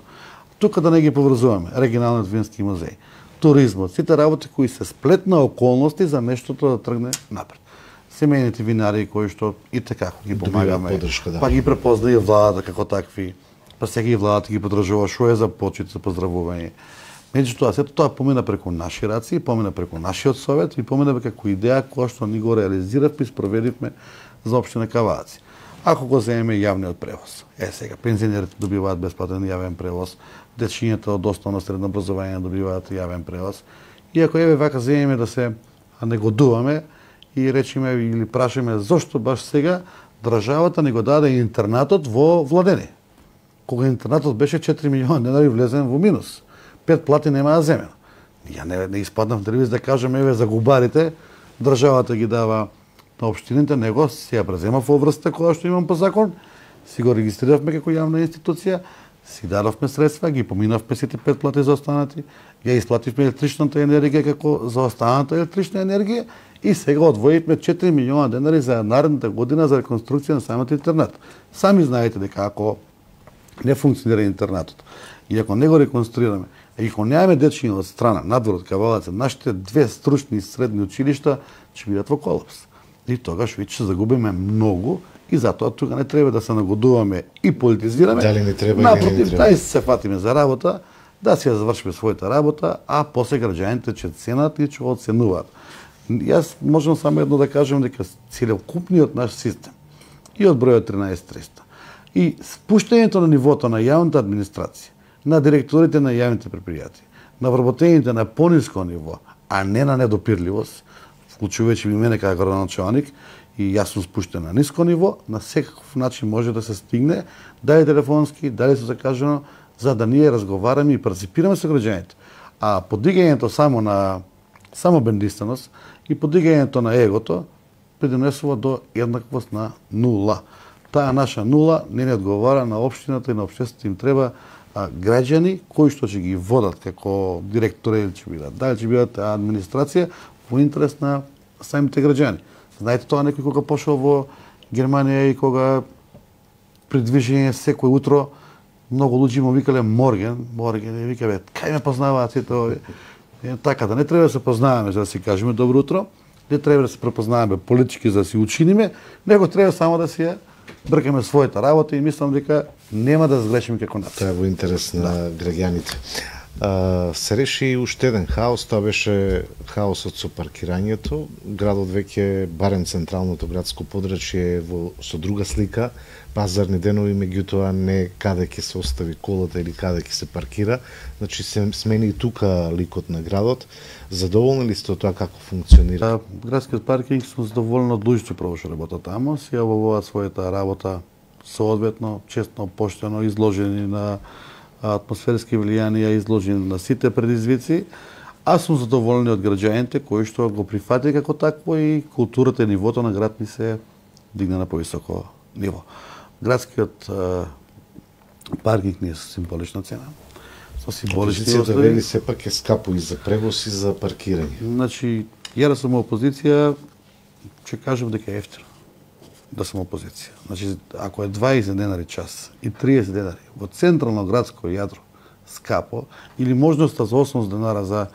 Тука да не ги поврзуваме, регионалниот вински музеј, туризмот, сите работи кои се сплет на околности за нештото да тргне напред. Семејните винари кои што и така ги помагаме, па ги препозна и владата како такви, па сега и владата ги подржува, што е за почит, за поздравување. Меѓутоа, сето тоа помина преку наши раци, помина преку нашиот совет и помина како идеја која што ни го реализиравме и спроведивме за општина Кавадаци. Ако го земеме јавниот превоз, сега пензионерите добиваат бесплатен јавен превоз, дечињата од основно средно образование добиваат јавен превоз. И ако вака земеме да се негодуваме и речеме или прашаме зошто баш сега државата ни го даде интернатот во Владени. Кога интернатот беше 4 милиони денари влезен во минус. 5 плати немаа земено. Ја не испаднав телевизија да кажам за губарите, државата ги дава на општините, него си ја презема во врста која што имам по закон, си го регистриравме како јавна институција, си дадовме средства, ги поминавме сите 5 плати за останати, ја исплативме електричната енергија како за останата електрична енергија и сега одвоивме 4 милиона денари за наредната година за реконструкција на самиот интернат. Сами знаете дека ако не функционира интернатот и ако не го реконструираме, и ако немаме дечиња од страна, надвор од Кавадаци, нашите 2 стручни средни училишта ќе бидат во колапс. И тогаш веќе ќе загубиме многу и затоа тука не треба да се нагодуваме и политизираме. Дали не треба напротив, или не треба? Напротив, се фатиме за работа, да си ја завршиме својата работа, а после граѓаните ќе ценат и ќе оценуваат. Јас можам само едно да кажам дека целокупниот наш систем и од бројот 13300 и спуштањето на нивото на јавната администрација на директорите на јавните предпријатија, на вработените на пониско ниво, а не на недопирливост, вклучувајќи мене како градоначалник, и јас сум спуштен на ниско ниво, на секаков начин може да се стигне, дали телефонски, дали со закажано, за да ние разговараме и парticipираме со граѓаните. А подигањето само на самобендиственост и подигањето на егото придонесува до еднаквост на нула. Таа наша нула не одговара на општината и на општеството. Им треба граѓани кои што ќе ги водат како директори или ќе бидат, дали ќе бидат администрација во интерес на самите граѓани. Знаете тоа некој кога пошел во Германија и кога при движење секој утро многу луѓе му викале Морген и викале кај ме познаваат сите овие. Така да не треба да се познаваме за да си кажеме добро утро, не треба да се препознаваме политички за да си учиниме, него треба само да си ја бркаме својата работа и мислам дека нема да сгрешиме како нација. Тоа е во интерес на граѓаните. Се реши уште еден хаос, тоа беше хаосот со паркирањето. Градот веќе, барем централното градско подрачје, со друга слика, пазарни денови, меѓутоа не каде ќе се остави колата или каде ќе се паркира. Значи се смени и тука ликот на градот. Задоволни ли сте од тоа како функционира? Градскиот паркинг сум задоволен од луѓето што работат тамо, си ја обавуваат својата работа соодветно, честно, поштено, изложени на атмосферски влијанија, изложени на сите предизвици. Аз сум задоволен од граѓаните кои што го прифати како такво и културата и нивото на град ни се дигна на повисоко ниво. Градскиот паркинг не е со символична цена. Со символични опозицијата вели сепак е скапо и за превоз и за паркирање. Значи, ја да сум опозиција, ќе кажам дека е ефтино да сум опозиција. Значи, ако е 20 денари час и 30 денари во централно градско јадро скапо, или можноста за 8 денара за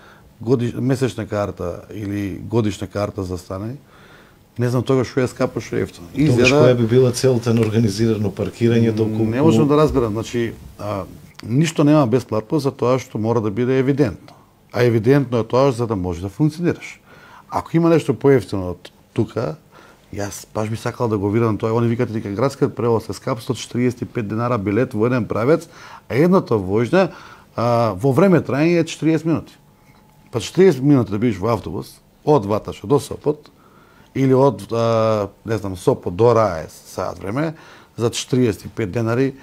месечна карта или годишна карта за стане, не знам тогаш што е скапо, што е ефтино. Тогаш која би била целта на организирано паркирање толку? Не можам да разберам, значи ништо нема бесплатно за тоа што мора да биде евидентно. А евидентно е тоа за да може да функционираш. Ако има нешто поевтино од тука, јас баш би сакал да го видам тоа. Они викате дека градскиот превоз е скап, 145 денара билет во еден правец, а едната војна во време траење е 40 минути. Па 40 минути да бидеш во автобус од Ваташа до Сопот или од не знам Сопот до Раес саат време за 45 денари,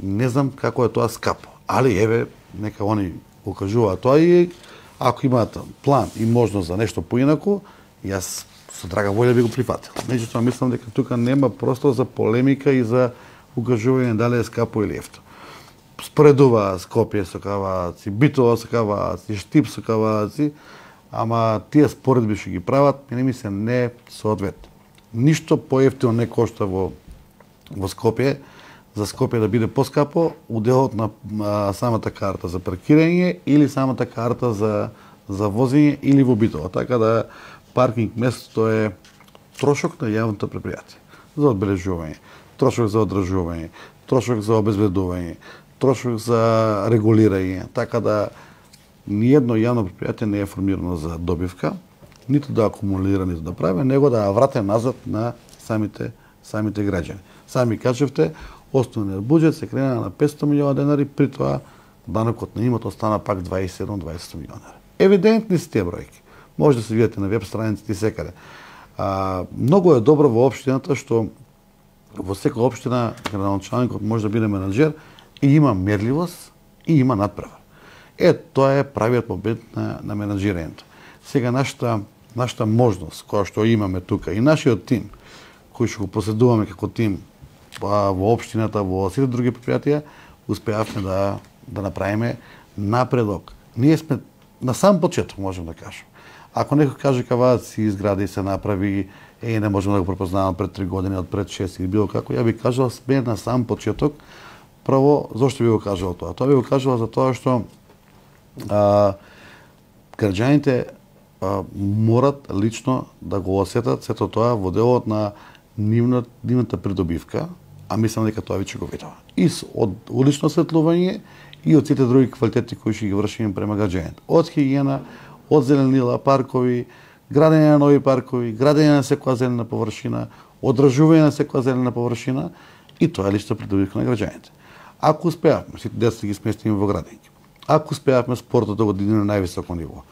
не знам како е тоа скапо. Али еве нека они го кажуваат тоа и ако имаат план и можност за нешто поинаку, јас со драга волја би го прифатил. Меѓутоа мислам дека тука нема простор за полемика и за укажување дали е скапо или ефтино. Споредува Скопје со Каваци, Битола со Каваци, Штип со Каваци, ама тие споредби што ги прават, не ми се не соодветно. Ништо поевтино не кошта во Скопје, за Скопје да биде поскапо, уделот на самата карта за паркирање или самата карта за возење или во Битола. Така да паркинг местото е трошок на јавното предпријатие за одбележување, трошок за одржување, трошок за обезбедување, трошок за регулирање, така да ниедно јавно предпријатие не е формирано за добивка, ниту да акумулира, ниту да прави, него да врате назад на самите граѓани. Сами кажевте, основниот буџет се крена на 500 милиона денари, при тоа данокот на имот остана пак 27-20 милиона. Евидентни се тие бројки. Може да се видите на веб страниците и секаде. Многу е добро во општината што во секоја општина градоначалникот може да биде менаџер и има мерливост и има надпревар. Тоа е правиот момент на менаџирањето. Сега нашата можност која што имаме тука и нашиот тим кој што го поседуваме како тим во општината, во сите други предпријатија, успеавме да направиме напредок. Ние сме на сам почеток, можем да кажем. Ако некој каже Каваци изгради и се направи, не можеме да го препознаваме пред 3 години, од пред 6 или било како, ја би кажал сме на сам почеток. Прво, зошто би го кажал тоа? Тоа би го кажал за тоа што граѓаните морат лично да го осетат сето тоа во делот на нивната придобивка, а мислам дека тоа веќе го видува. И од улично осветлување и од сите други квалитети кои ќе ги вршиме према граѓаните. Од хигиена, од зеленила, паркови, градење на нови паркови, градење на секоја зелена површина, одржување на секоја зелена површина и тоа е лична придобивка на граѓаните. Ако успеавме, сите деца ги сместиме во градинки, ако успеавме спортот да го дигнеме на највисоко ниво,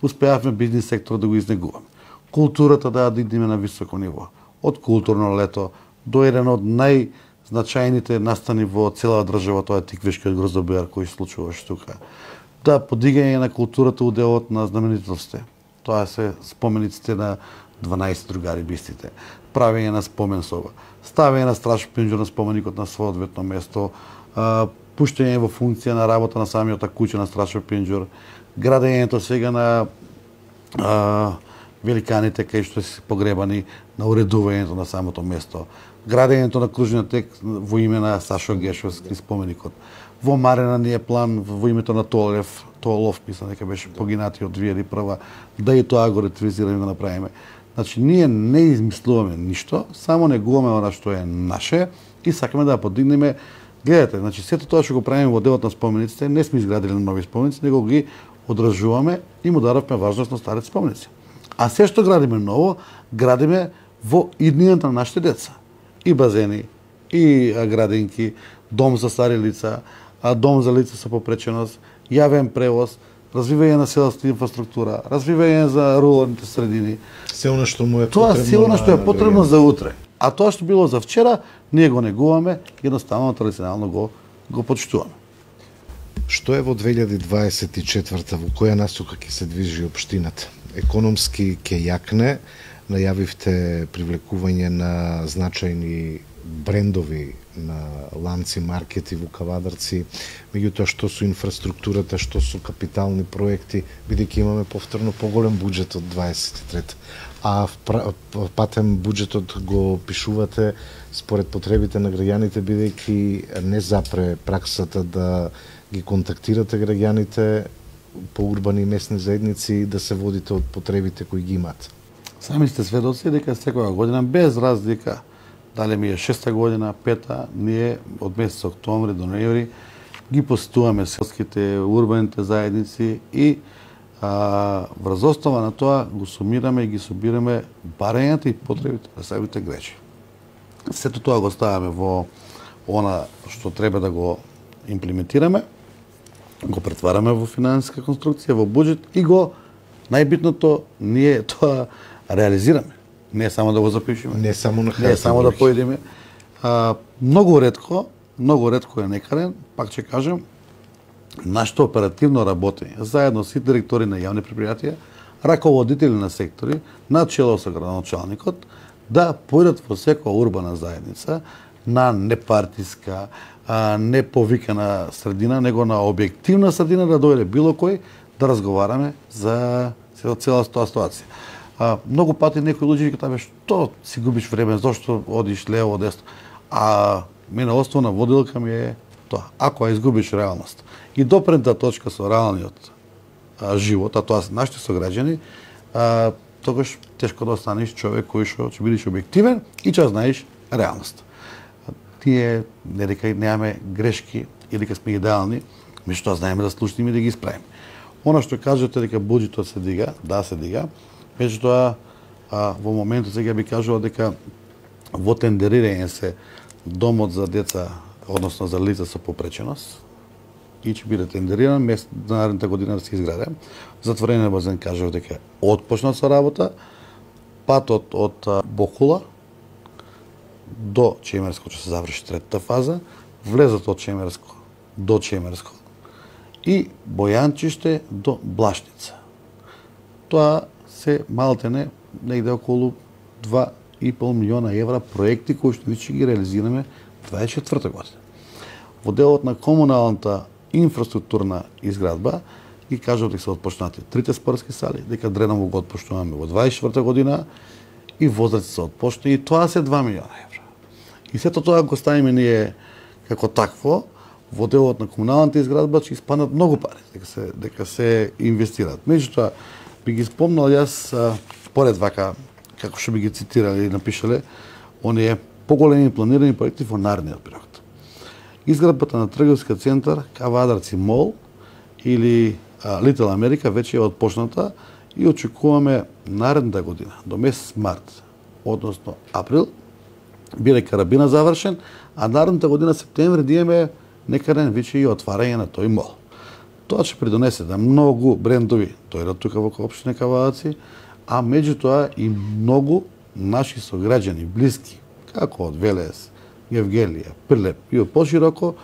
успеавме бизнис сектор да го изнегуваме, културата да ја дигнеме на високо ниво, од културно лето до еден од најзначајните настани во цела држава, тоа е Тиквешкиот гроздобијар кој се случуваше тука. Да, подигање на културата уделот на знаменитостите. Тоа се спомениците на 12 другари бистите, правење на спомен соба, ставење на Страшо Пинџур на споменикот на соодветно место, пуштање во функција на работа на самиот куќа на Страшо Пинџур, градењето сега на великаните кај што се погребани, на уредувањето на самото место, градењето на кружниот тек во име на Сашо Гешовски споменикот. Во Марена ни е план во името на Толов, мислам дека беше погинатиот 2001, да и тоа го ретвизираме и го направиме. Значи, ние не измислуваме ништо, само негуваме она што е наше и сакаме да ја подигнеме. Гледате, значи, сето тоа што го правиме во делот на спомениците, не сме изградили нови споменици, него ги одржуваме и му даравме важност на старите споменици. А се што градиме ново, градиме во иднината на нашите деца. И базени, и градинки, дом за стари лица, дом за лица со попреченост, јавен превоз, развивање на селската инфраструктура, развивање за руралните средини. Се она што му е тоа потребно. Тоа се она што е потребно за утре. А тоа што било за вчера, ние го негуваме, едноставно традиционално го почитуваме. Што е во 2024 во која насока ќе се движи општината? Економски ќе јакне, најавивте привлекување на значајни брендови на ланци маркети во Кавадарци, меѓутоа што со инфраструктурата, што со капитални проекти, бидејќи имаме повторно поголем буџет од 23. А патем буџетот го пишувате според потребите на граѓаните, бидејќи не запре праксата да ги контактирате граѓаните по урбани и местни заедници да се водите од потребите кои ги имаат. Сами сте сведоци дека секоја година без разлика дали ми е 6-та година, 5-та, ние од месец октомври до ноември ги посетуваме селските, урбаните заедници и врз основа на тоа го сумираме и ги собираме барањата и потребите на самите граѓани. Сето тоа го ставаме во она што треба да го имплементираме, го претвараме во финансиска конструкција, во буџет и го најбитното ние тоа реализираме. Не само да го запишеме. Не само на хајта. Не само да појдеме. Многу ретко е некаден, пак ќе кажем, нашето оперативно работење, заедно со директори на јавни предпријатија, раководители на сектори, на чело со градоначалникот, да појдат во секоја урбана заедница на непартиска, не повикана средина, него на објективна средина да дојде било кој да разговараме за целата тоа ситуација. Многу пати некои луѓе кажат, што си губиш време, зошто одиш лево, десно. А мене основна водилка ми е тоа. Ако ја изгубиш реалност и допрента точка со реалниот живот, а тоа се нашите сограѓани, тогаш тешко да останеш човек кој што ќе бидеш објективен и ќе знаеш реалност. Тие не дека немаме грешки или дека сме идеални, меѓутоа знаеме да слушнеме и да ги исправиме. Она што кажете дека буџетот се дига, да се дига, меѓутоа во моментот сега би кажувал дека во тендерирање се домот за деца, односно за лица со попреченост, и ќе биде тендериран, наредната година да се изграде. Затворен базен кажав дека отпочнат со работа, патот од Бохула до Чемерско ќе се заврши третата фаза, влезот од Чемерско до Чемерско и Бојанчиште до Блашница. Тоа се малтене негде околу 2,5 милиона евра проекти кои што веќе ги реализираме 24 година. Во делот на комуналната инфраструктурна изградба ги кажав дека се отпочнати 3 спортски сали, дека Дреново го отпочнуваме во 24 година и Возраци се отпочна и тоа се 2 милиона евра. И сето тоа го ставиме ние како такво, во делот на комуналната изградба ќе испаднат многу пари дека се инвестираат. Меѓутоа би ги спомнал јас поред вака како што би ги цитирале и напишале оние поголеми планирани проекти во наредниот период. Изградбата на трговски центар Кавадарци Мол или Литл Америка веќе е отпочната и очекуваме наредната година до месец март, односно април, биде карабина завршен, а наредната година септември да имаме некаден више и отварање на тој мол. Тоа ќе придонесе да многу брендови дојдат тука во општина Кавадаци, а меѓутоа и многу наши сограѓани, блиски, како од Велес, Евгелија, Прилеп и од пошироко,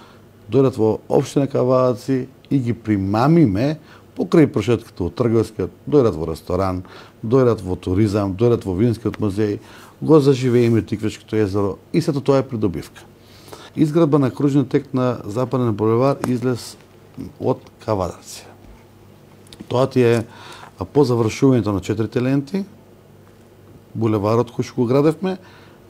дојдат во општина Кавадаци и ги примамиме покрај прошетката од трговскиот, дојдат во ресторан, дојдат во туризам, дојдат во винскиот музеј, го заживееме Тиквечкото езеро и сето тоа е придобивка. Изградба на кружниот тек на Западен булевар излез од Кавадарци. Тоа ти е по завршувањето на 4 ленти, булеварот кој што го градевме,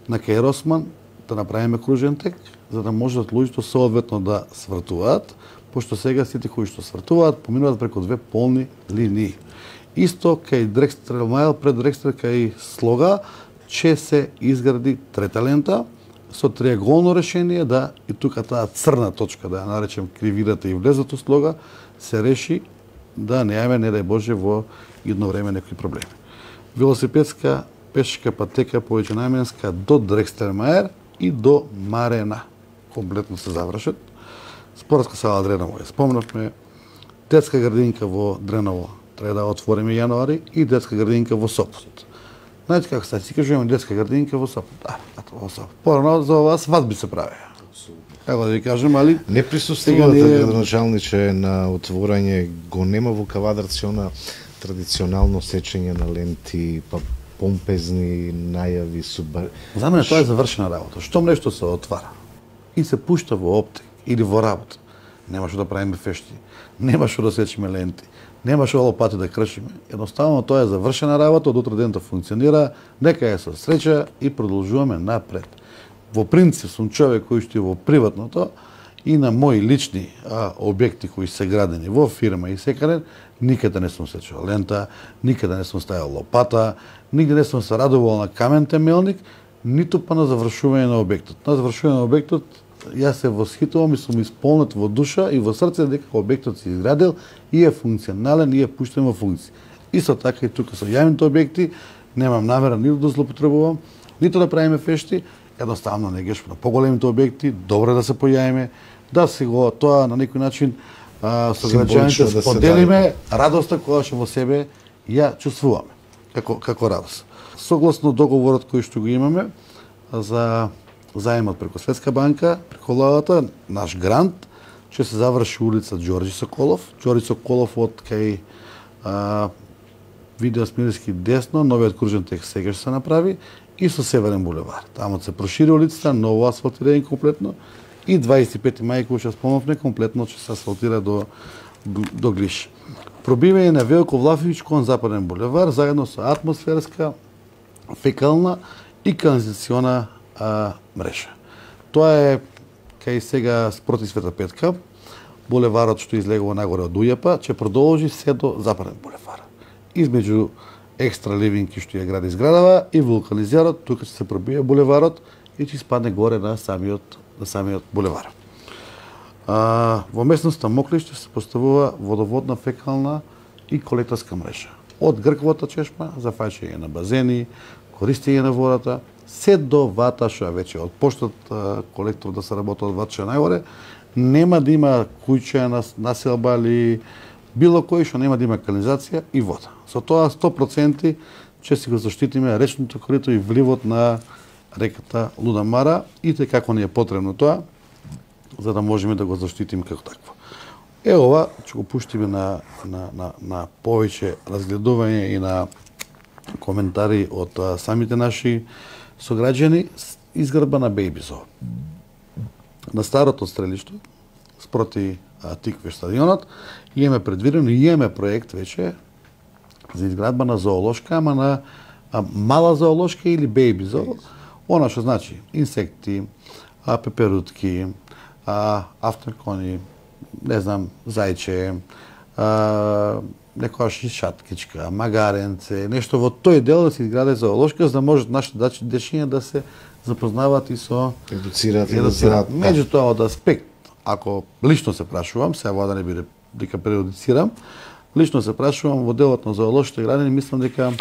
на Каир Осман, да направиме кружен тек, за да можат луѓето соодветно да свртуваат, пошто сега сите кои што свртуваат поминуваат преку две полни линии. Исто кај Дрекстрел Майл, пред Дрекстрел кај Слога, ќе се изгради трета лента со триаголно решение, да и тука таа црна точка, да ја наречем кривирата и влезот у Слога, се реши да неаме, не дај Боже, во едно време некои проблеми. Велосипедска пешка патека повеќенаменска до Дрекстермаер и до Марена. Комплетно се завршат. Спортска сала Дреново ја спомнавме. Детска градинка во Дреново треба да отвориме јануари и детска градинка во Сопот. Знаете како сега си кажуваме детска градинка во Сопот. Во Сопот. Порано за ова свадби се правеа. Како да ви кажем, али не присуствувате градоначалниче на отворање, го нема во Кавадарци она традиционално сечење на ленти, па помпезни најави, За мене тоа е завршена работа. Штом нешто се отвара и се пушта во оптик или во работа, нема што да правиме фешти, нема што да сечиме ленти, нема што лопати да кршиме. Едноставно тоа е завршена работа, од утре ден да функционира, нека е со среќа и продолжуваме напред. Во принцип сум човек кој што е во приватното и на мои лични објекти кои се градени во фирма и секаде, никаде не сум сечил лента, никаде не сум ставил лопата, нигде не сум се радувал на камен темелник, ниту па на завршување на објектот. На завршување на објектот јас се восхитувам и сум исполнет во душа и во срце дека објектот се изградил и е функционален и е пуштен во функција. Исто така и тука со јавните објекти немам намера ниту да злоупотребувам, ниту да правиме фешти, едноставно не геш на поголемите објекти, добро е да се појавиме, да се го тоа на некој начин со граѓаните да споделиме радоста која што во себе ја чувствуваме како радост. Согласно договорот кој што го имаме за заемот преку Светска банка, преку владата, наш грант ќе се заврши улица Ѓорѓи Соколов. Ѓорѓи Соколов од кај Видео Смирски десно, новиот кружен тек сега ќе се направи и со Северен булевар. Таму се прошири улицата, ново асфалтирање комплетно и 25 мај кој што спомнавме комплетно ќе се асфалтира до Глиш. Пробивање на Велко Влафовиќ кон Западен булевар заедно со атмосферска, фекална и канализациона мрежа. Тоа е кај сега спроти Света Петка, булеварот што излегува нагоре од Ујапа, ќе продолжи се до Западен булевар. Измеѓу екстра ливинки што ја гради зградава и вулканизерот, тука ќе се пробие булеварот и ќе спадне горе на самиот булевар. Во местноста Моклиште се поставува водоводна, фекална и колекторска мрежа. Од Грковата чешма за фаќање на базени, користење на водата, се до Ваташа, веќе од поштот колектор да се работи од Ваташа најгоре, нема да има куќа населба или било кој што нема да има канализација и вода. Со тоа 100% ќе си го заштитиме речното корито и вливот на реката Луда Мара и како ни е потребно тоа, за да можеме да го заштитиме како такво. Ова ќе го пуштиме на повеќе разгледување и на коментари од самите наши сограѓани. Изградба на Бејби Зоо. На старото стрелиште, спроти Тиквеш стадионот, имаме предвидено и имаме проект веќе за изградба на зоолошка, ама на мала зоолошка или Бејби Зоо. Она што значи инсекти, пеперутки, автокони, не знам, зајче, некоја шаткичка, магаренце, нешто во тој дел да се изгради зоолошка, за да можат нашите дечиња да се запознаваат и со едуцираат. Меѓутоа од аспект, ако лично се прашувам, сега да не биде дека преодицирам, лично се прашувам во делот на зоолошките градини, мислам дека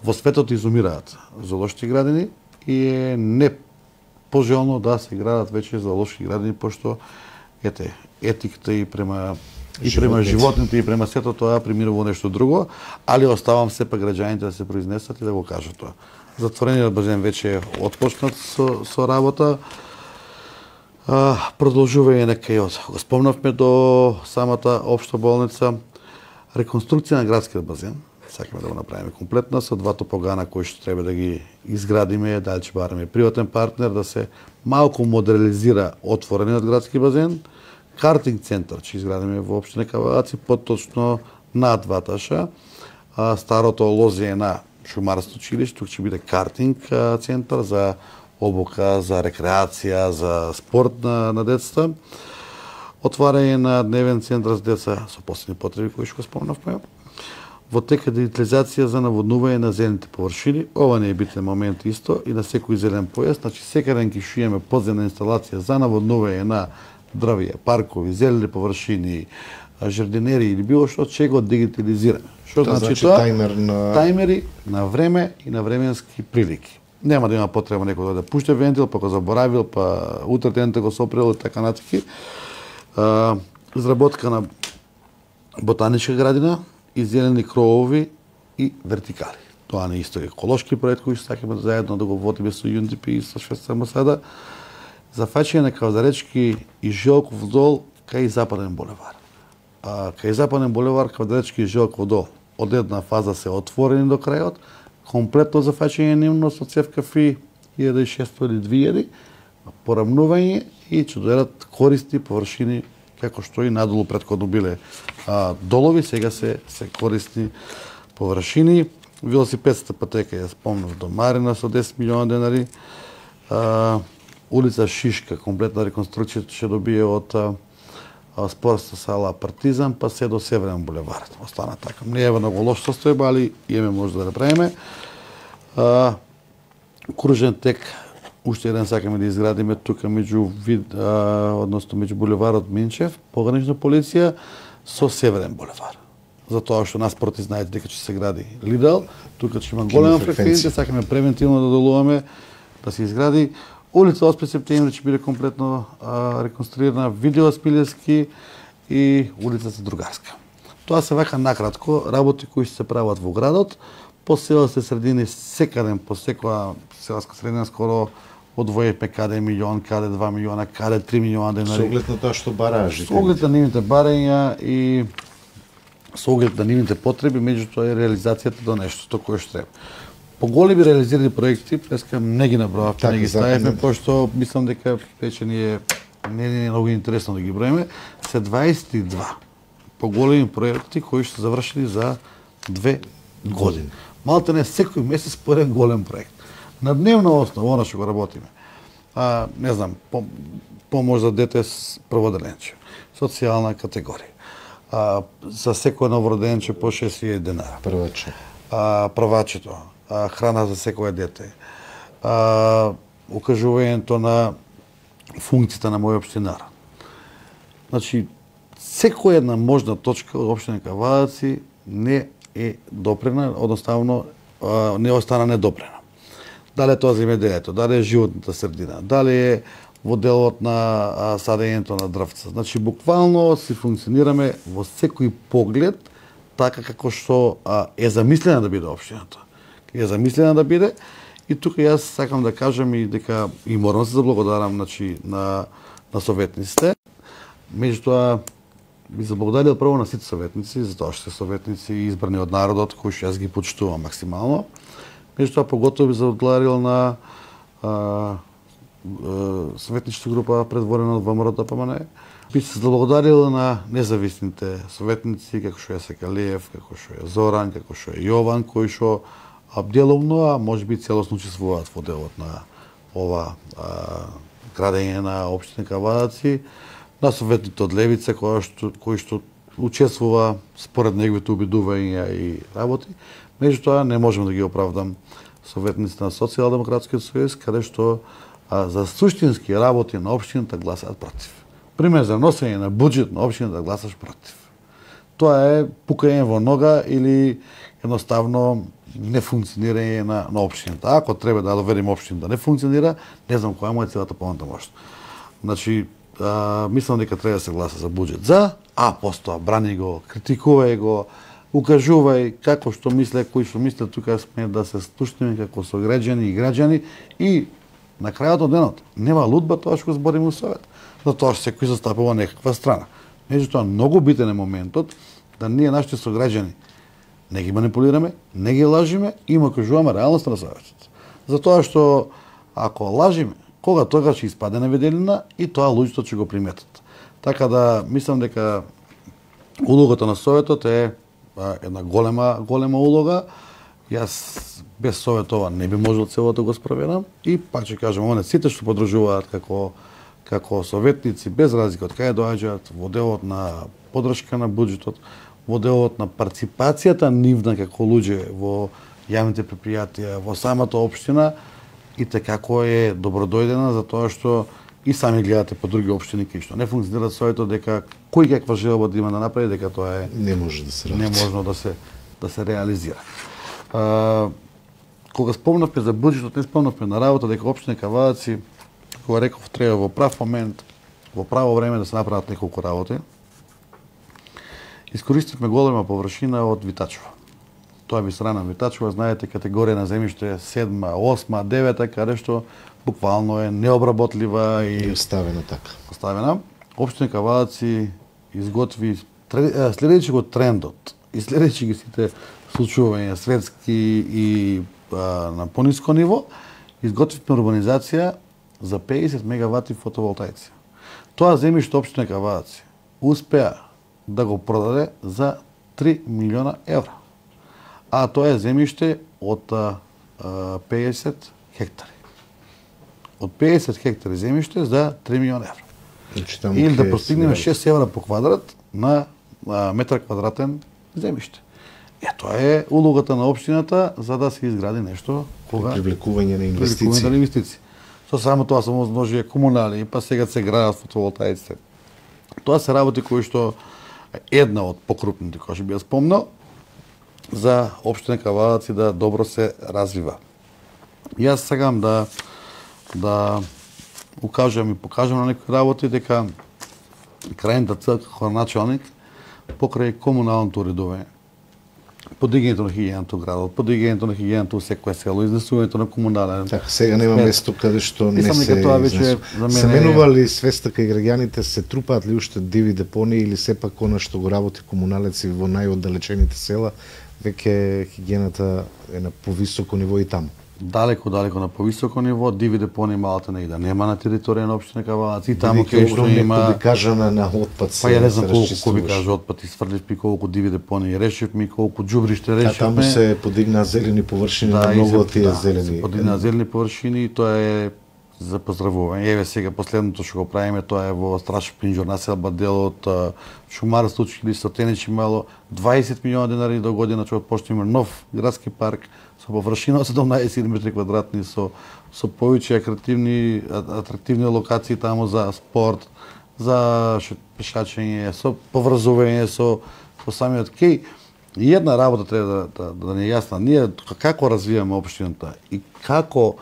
во светот изумираат зоолошките градини и е не пожелно да се градат веќе зоолошки градини, пошто етиката и према животните и према сето тоа преминува нешто друго, али оставам сепак граѓаните да се произнесат и да го кажат тоа. Затворениот базен веќе е отпочнат со работа. Продолжува и некај го спомнавме до самата општа болница. Реконструкција на градскиот базен, сакаме да го направиме комплетна со двата погана кои што треба да ги изградиме, дали ќе бараме приватен партнер да се малку модернизира отворениот градски базен. Картинг центар ќе изградиме во општина Кавадаци, поточно на Ваташа. Старото лозие на шумарско училиште, тук ќе биде картинг центар за обука, за рекреација, за спорт на децата. Отварање на дневен центар за деца со посебни потреби, кои што го спомнавме. Во тека дигитализација за наводнување на зелените површини. Ова не е битен момент исто и на секој зелен појас. Значи, секаде ќе шиеме подземна инсталација за наводнување на дрвја, паркови, зелени површини, жардинери или било што, ќе го дигитализираме. Што значи тоа? Тајмери на време и на временски прилики. Нема да има потреба некој да пуште вентил, па го заборавил, па утре денте го сопрел и така натаки. Изработка на ботаничка градина и зелени кровови и вертикали. Тоа не исто еколошки проект кој што сакаме заедно да го водиме со ЮНДП и со Шведска Масада. Зафаќање на Кавадаречки и Желков дол кај Западен булевар. Кај Западен булевар, Кавадаречки и Желков дол од една фаза се отворени до крајот, комплетно зафаќање нивно со цевка фи 1600 или 2000, порамнување и ќе дојдат користни површини како што и надолу претходно биле долови, сега се користни површини. Велосипедската патека ја спомнав до Марина со 10 милиона денари. Улица Шишка, комплетна реконструкција ќе добие од спортска сала Партизан, па се до Северен булевар. Остана така. Не е во многу лош состојба, али имаме може да направиме. Кружен тек, уште еден сакаме да изградиме тука меѓу булеварот Минчев, погранична полиција со Северен булевар. Затоа што нас проти знаете дека ќе се гради Лидал, тука ќе има голема фреквенција, сакаме превентивно да делуваме да се изгради. Улица 8 септември ќе биде комплетно реконструирана, Видео Спилевски и улицата Другарска. Тоа се вака накратко работи кои се прават во градот, по селските средини секаде, по секоја селска средина скоро одвоивме каде милион, каде 2 милиона, каде 3 милиона денари. Со оглед на тоа што бараа жителите. Со оглед на нивните барања и со оглед на нивните потреби, меѓутоа е реализацијата до нештото кое што треба. Поголеми реализирани проекти, преска не ги набројавме, не ги ставивме, пошто мислам дека веќе не е многу интересно да ги броиме, се 22 поголеми проекти кои што завршили за 2 години. Малте не секој месец по еден голем проект. На дневна основа, она што го работиме. Не знам, помош за дете с прводеленче, социјална категорија. За секој новороденче по 6000 денара. Прваче. Првачето. Храна за секое дете, укажувањето на функцијата на мој општинар. Значи, секоја една можна точка од општина Кавадаци не е допрена, одноставно не остана недопрена. Дали е тоа земјоделието, дали е животната средина, дали е во делот на садењето на дрвца. Значи, буквално си функционираме во секој поглед така како што е замислена да биде општината. Е замислена да биде и тука јас сакам да кажам и дека и морам да се заблагодарам на советниците. Меѓутоа би заблагодарил прво на сите советници, затоа што се советници избрани од народот, кои што јас ги почитувам максимално. Меѓутоа поготово би заблагодарил на советничка група предводена од ВМРО-ДПМНЕ. Би се заблагодарил на независните советници, како што е Секалиев, како што е Зоран, како што е Јован, кои што деловно, а може би целосно учествуваат во делот на ова градење на општина Кавадаци, на советните од Левица кои што учествува според неговите убедувања и работи. Меѓутоа не можам да ги оправдам советниците на Социјалдемократскиот сојуз, каде што за суштински работи на општината гласаат против. Пример за носење на буџет на општината да гласаш против. Тоа е пукање во нога или едноставно нефункционирање на општината. Ако треба да доверим општината да не функционира, не знам која му е целата понатамошна. Значи, мислам дека треба да се гласа за буџет за, а постоа брани го, критикувај го, укажувај како што мисле, кои што мисле, тука сме да се слушнеме како сограѓани и на крајот од денот нема лудба тоа што го збориме у совет, затоа што секој застапува некаква страна. Меѓутоа многу битен е моментот да ние нашите сограѓани не ги манипулираме, не ги лажиме и им кажуваме реалноста на советот. Затоа што ако лажиме, кога тогаш ќе испаде на виделина и тоа луѓето ќе го приметат. Така да мислам дека улогата на советот е една голема улога. Јас без совет ова не би можел целото го спроведам и пак ќе кажам, оне сите што подржуваат како советници без разлика од кај доаѓаат во делот на подршка на буџетот, во делот на парципацијата нивна како луѓе во јавните предпријатија, во самата општина, и како е добродојдена, затоа што и сами гледате по други општини кои што не функционираат советот, дека кој каква желба да има да направи, дека тоа е не може да се неможно да се реализира. Кога спомнавме за буџетот, не спомнавме на работа дека општина Кавадаци, кога реков треба во прав момент, во право време да се направат неколку работи. Искористивме голема површина од Витачево. Тоа би страна Витачево, знаете, категорија на земјиште 7, 8, 9, каде што буквално е необработлива и оставена така. Оставена. Општина Кавадаци изготви следејќи го трендот и следејќи ги сите случувања светски и на пониско ниво, изготвивме урбанизација за 50 мегавати фотоволтаици. Тоа земјиште општина Кавадаци успеа да го продаде за 3 милиона евра. А тоа е земјиште од 50 хектари. Од 50 хектари земјиште за 3 милиона евра. Или да постигнеме 6 евра по квадрат на метар квадратен земјиште. Тоа е улогата на општината за да се изгради нешто кога привлекување на инвестиции. Со само тоа се можи комунали, па сега се градат фотоволтаиците. Тоа се работи кои што една од покрупните, која што би ја спомнал, за општина Кавадаци да добро се развива. Јас сакам да укажам и покажам на некои работи дека крајната цел како началник покрај комуналното уредување, подигањето на хигиената во градот, подигањето на хигиената во секое село, изнесувањето на комунален. Така, сега нема место каде што не се тоа веќе за мене се менува ли свеста кај граѓаните, се трупаат ли уште диви депонии или сепак она што го работи комуналеци во најоддалечените села, веќе хигиената е на повисоко ниво и таму? Далеко на повисоко ниво, диви депонии малата не и да нема на територија на општина Кавадаци, таму кај што има кажана на отпад. Па ја не знам колку кубика отпад изфрлив, колку диви депонии решивме, колку џубриште решивме. Таму се подигнаа зелени површини, на многу од тие зелени. Се подигнаа зелени површини и тоа е за поздравување. Еве сега последното што го правиме, тоа е во Страшев Пинџор, населба дел од шумарство, училиште Теничи мало, 20 милиона денари до година ќе отпочнеме нов градски парк со површина од 17 метри квадратни, со повеќе атрактивни локации таму за спорт, за пешачење, со поврзување со самиот кеј. И една работа треба да не е јасна. Ние како развиваме општината и како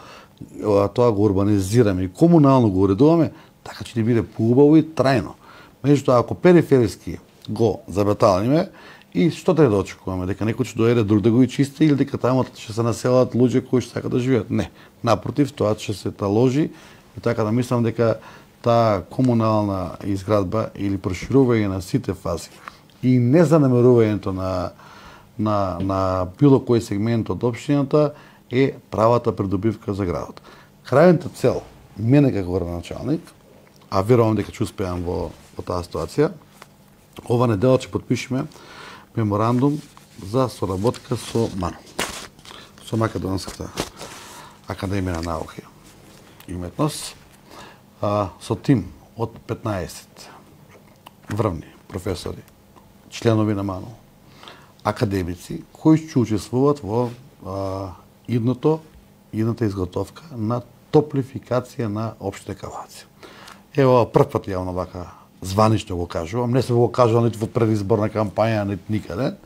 тоа го урбанизираме и комунално го уредуваме, така ќе ни биде поубаво и трајно. Меѓутоа, ако периферски го забаталиме, и што треба да очекуваме? Дека некој ќе доеде друг да го чисти или дека таму ќе се населат луѓе кои што сакаат да живеат? Не. Напротив, тоа ќе се таложи и така да мислам дека таа комунална изградба или проширување на сите фази и незанемарувањето на било кој сегмент од општината е правата придобивка за градот. Крајната цел, мене како градоначалник, а верувам дека ќе успеам во таа ситуација, ова недела ќе потпишеме меморандум за соработка со МАНУ, со Македонската академија на науки и уметност, со тим од 15 врвни професори, членови на МАНУ, академици, кои ќе учествуваат во идната изготовка на топлификација на општина Кавадаци. Ево, прв пат јавно вака званично го кажувам, не се го кажувам ниту во предизборна кампања, ниту никаде.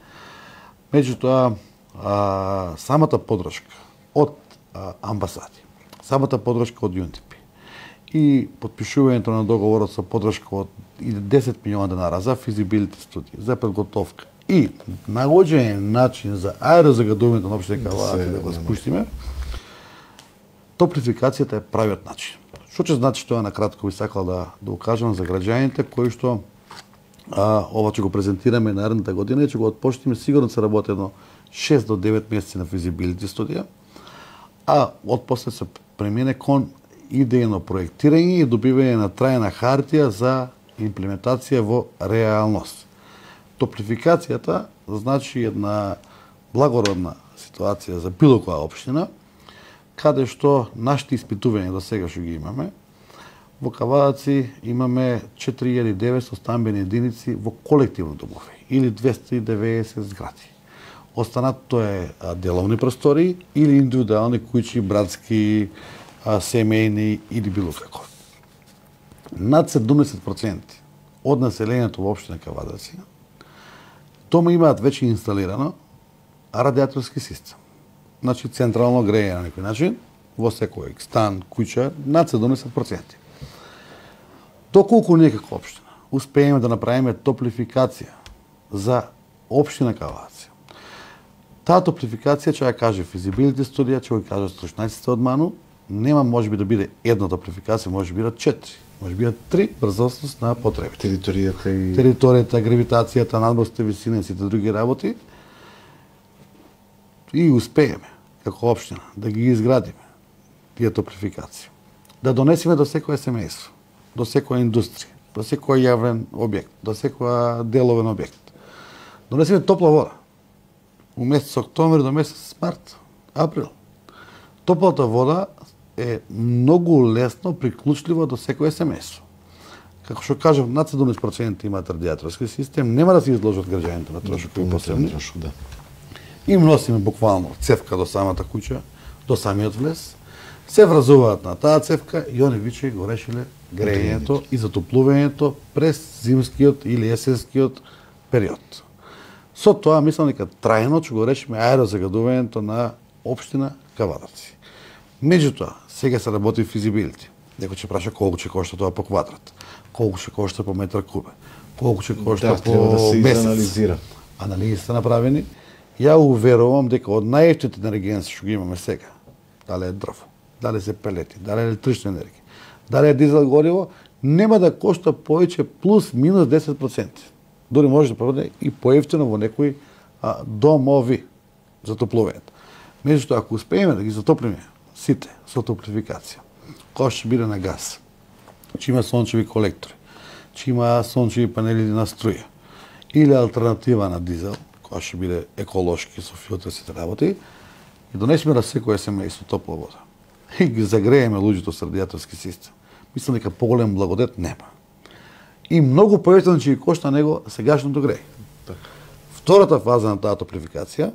Меѓутоа, самата поддршка од амбасади, самата поддршка од ЮНДП и подпишувањето на договорот со поддршка од 10 милиона денара за физибилити студија, за подготовка и наоѓање начин за аерозагадувањето на општина Кавадарци да го спуштиме, топлификацијата е правиот начин. Што ќе значи тоа на кратко би сакал да укажам за граѓаните кои што ова ќе го презентираме наредната година и ќе го отпочнеме сигурно се работи едно 6 до 9 месеци на физибилити студија, а отпосле се премине кон идејно проектирање и добивање на трајна хартија за имплементација во реалност. Топлификацијата значи една благородна ситуација за било која општина, каде што нашите испитувања до сега што ги имаме, во Кавадарци имаме 4900 стамбени единици во колективно домови или 290 згради. Останато е деловни простори или индивидуални куќи, братски, семејни или било како. Над 70% од населението во општина Кавадарци дома имаат веќе инсталирано радиаторски систем. Значи централно грејење на некој начин во секој стан, куќа, над 70%. Доколку ние како општина успееме да направиме топлификација за општина Кавадарци, таа топлификација ќе ја каже физибилити студија, ќе го кажат стручњаците од МАНУ, нема можеби да биде една топлификација, може би 4, може би 3 брзосност на потребите. Територијата, гравитацијата, надморските висини и сите други работи. И успееме како општина да ги изградиме тие топлификации. Да донесеме до секој семејство, до секоја индустрија, до секој јавен објект, до секоја деловен објект. Донесеме топла вода. У месец октомври до месец март, април. Топлата вода е многу лесно приклучлива до секое семејство. Како што кажав, над 70% имаат радиаторски систем, нема да се изложат граѓаните на трошок кои посебни. Им носиме буквално цевка до самата куќа, до самиот влез, се вразуваат на таа цевка и они виче го решиле грејењето и затоплувањето през зимскиот или есенскиот период. Со тоа мислам дека трајно ќе го решиме аерозагадувањето на општина Кавадарци. Меѓутоа, сега се работи физибилити. Некој ќе праша колку ќе кошта тоа по квадрат, колку ќе кошта по метар кубен, колку ќе кошта по месец. Анализи се направени. Ја уверувам дека од најевтините енергенци што ги имаме сега, дали е дрво, дали се пелети, дали е електрична енергија, дали е дизел гориво, нема да кошта повеќе плюс минус 10%. Дори може да проведе и поевтино во некои домови за топлувањето. Меѓутоа, ако успееме да ги затоплиме сите со топлификација, кој ќе биде на газ, ќе има сончеви колектори, ќе има сончеви панели на струја, или алтернатива на дизел, која ќе биде еколошки со филтрсите работи, и донесеме на секој семејство топла вода. И ги загрееме луѓето со радиаторски систем. Мислам дека поголем благодет нема. И многу поевтино ќе ги кошта него сегашното греје. Втората фаза на таа топлификација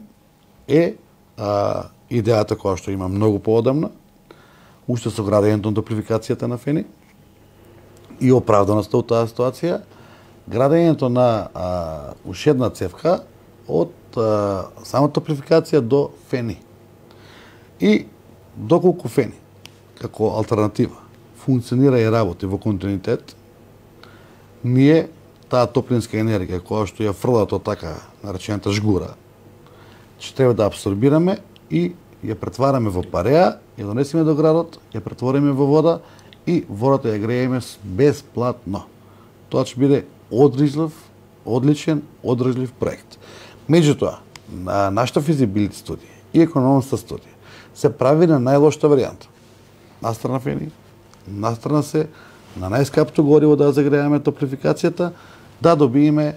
е идејата која што има многу поодамна, уште со градењето на топлификацијата на фени и оправданоста од таа ситуација, градењето на уште една цевка од самата топлификација до фени. И доколку фени, како алтернатива, функционира и работи во континуитет, ние таа топлинска енергија која што ја фрлат од така наречената жгура, ќе треба да абсорбираме и ја претвараме во пареа, ја донесеме до градот, ја претвориме во вода и водата ја грееме бесплатно. Тоа ќе биде одличен, одржлив проект. Меѓутоа, на нашата физибилити студија и економска студија се прави на најлошата варијанта. Настрана фени, настрана се на најскапто гориво да загрееме топлификацијата, да добиеме